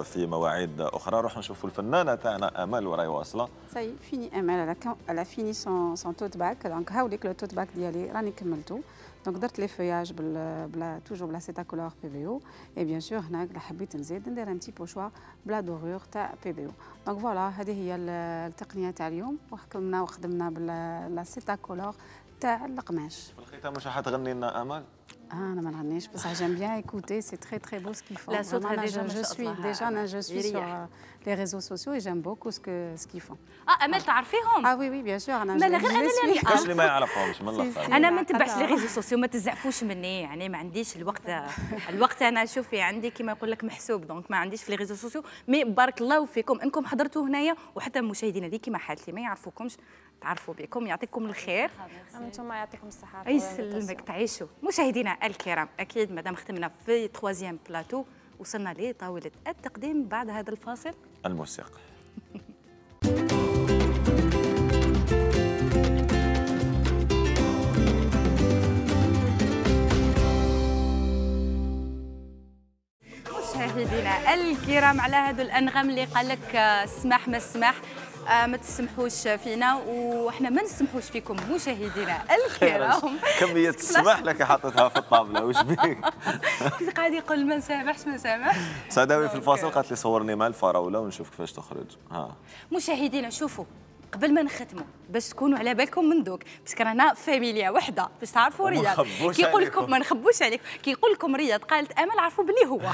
في مواعيد اخرى. نروح نشوفوا الفنانه تاعنا امل وراهي واصله. سي فيني امل على فيني سون توت باك دونك هاوليك لو توت باك ديالي راني كملته دونك درت لي فياج بلا توجور بلا سيتاكولور بي في او اي بيان سور هناك حبيت نزيد ندير ان تي بو شوا بلا دورور تاع بي في او. دونك فوالا هذه هي التقنيه تاع اليوم، وحكمنا وخدمنا بلا سيتاكولور تاع القماش. في الختام واش راح تغني لنا امل؟ انا ما نغنيش بصح j'aime bien écouter, c'est très très beau ce qu'ils font. لا صوتها ديجا je suis sur les réseaux sociaux et j'aime beaucoup ce qu'ils font. امل تعرفيهم؟ oui bien sûr انا غير انا كاش اللي ما يعرفهمش من الاخر. انا ما نتبعش لي ريزو سوسيو، ما تزعفوش مني يعني، ما عنديش الوقت انا شوفي عندي كما يقول لك محسوب، دونك ما عنديش في لي ريزو سوسيو. مي بارك الله فيكم انكم حضرتوا هنايا، وحتى المشاهدين اللي كما حالتي ما يعرفوكمش تعرفوا بكم، يعطيكم الخير. انتم يعطيكم الصحه. يسلمك تعيشوا. مشاهدينا الكرام، اكيد مادام ختمنا في 3 بلاتو وصلنا لطاوله التقديم بعد هذا الفاصل الموسيقى. مشاهدينا الكرام، على هذو الانغام اللي قال لك السماح ما السماح، ما تسمحوش فينا وإحنا ما نسمحوش فيكم مشاهدينا الكرام. كمية السماح لك حاطتها في الطاولة، وش بيك؟ كنت قاعد يقول ما نسامحش ما نسامح. سعداوي في الفاصل قالت لي صورني مع الفراولة ونشوف كيفاش تخرج. مشاهدينا شوفوا، قبل ما نختموا باش تكونوا على بالكم من دوك، باسكو رانا فاميليا وحده باش تعرفوا رياض. كي يقول لكم ما نخبوش عليك، كي يقول لكم رياض قالت امل، عرفوا بلي هو.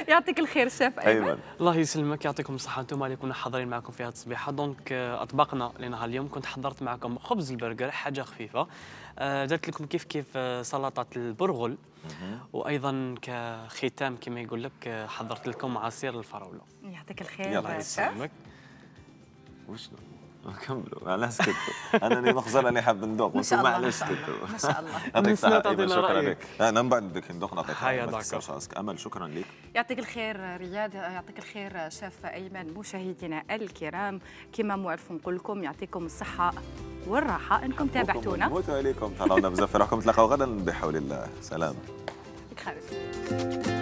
يعطيك الخير شاف ايمن. الله يسلمك، يعطيكم الصحه. انتم اللي كنا حاضرين معكم في هذه الصبيحه. دونك اطباقنا لنهار اليوم كنت حضرت معكم خبز البرجر، حاجه خفيفه. درت لكم كيف سلطه البرغل، وايضا كختام كما يقول لك حضرت لكم عصير الفراوله. يعطيك الخير شاف. وشنو؟ كملوا انا سكت، انا نخزر راني حاب ندوق بس ما علاش سكت. ما شاء الله. يعطيك الصحة، شكرا لك. انا من بعد بدك ندوق نعطيك. امل شكرا لك. يعطيك الخير رياض، يعطيك الخير شاف ايمن. مشاهدينا الكرام كما معرف نقول لكم يعطيكم الصحة والراحة انكم تابعتونا. نموتوا عليكم، تهلاونا بزاف في روحكم، نتلاقاو غدا بحول الله. سلام. خير.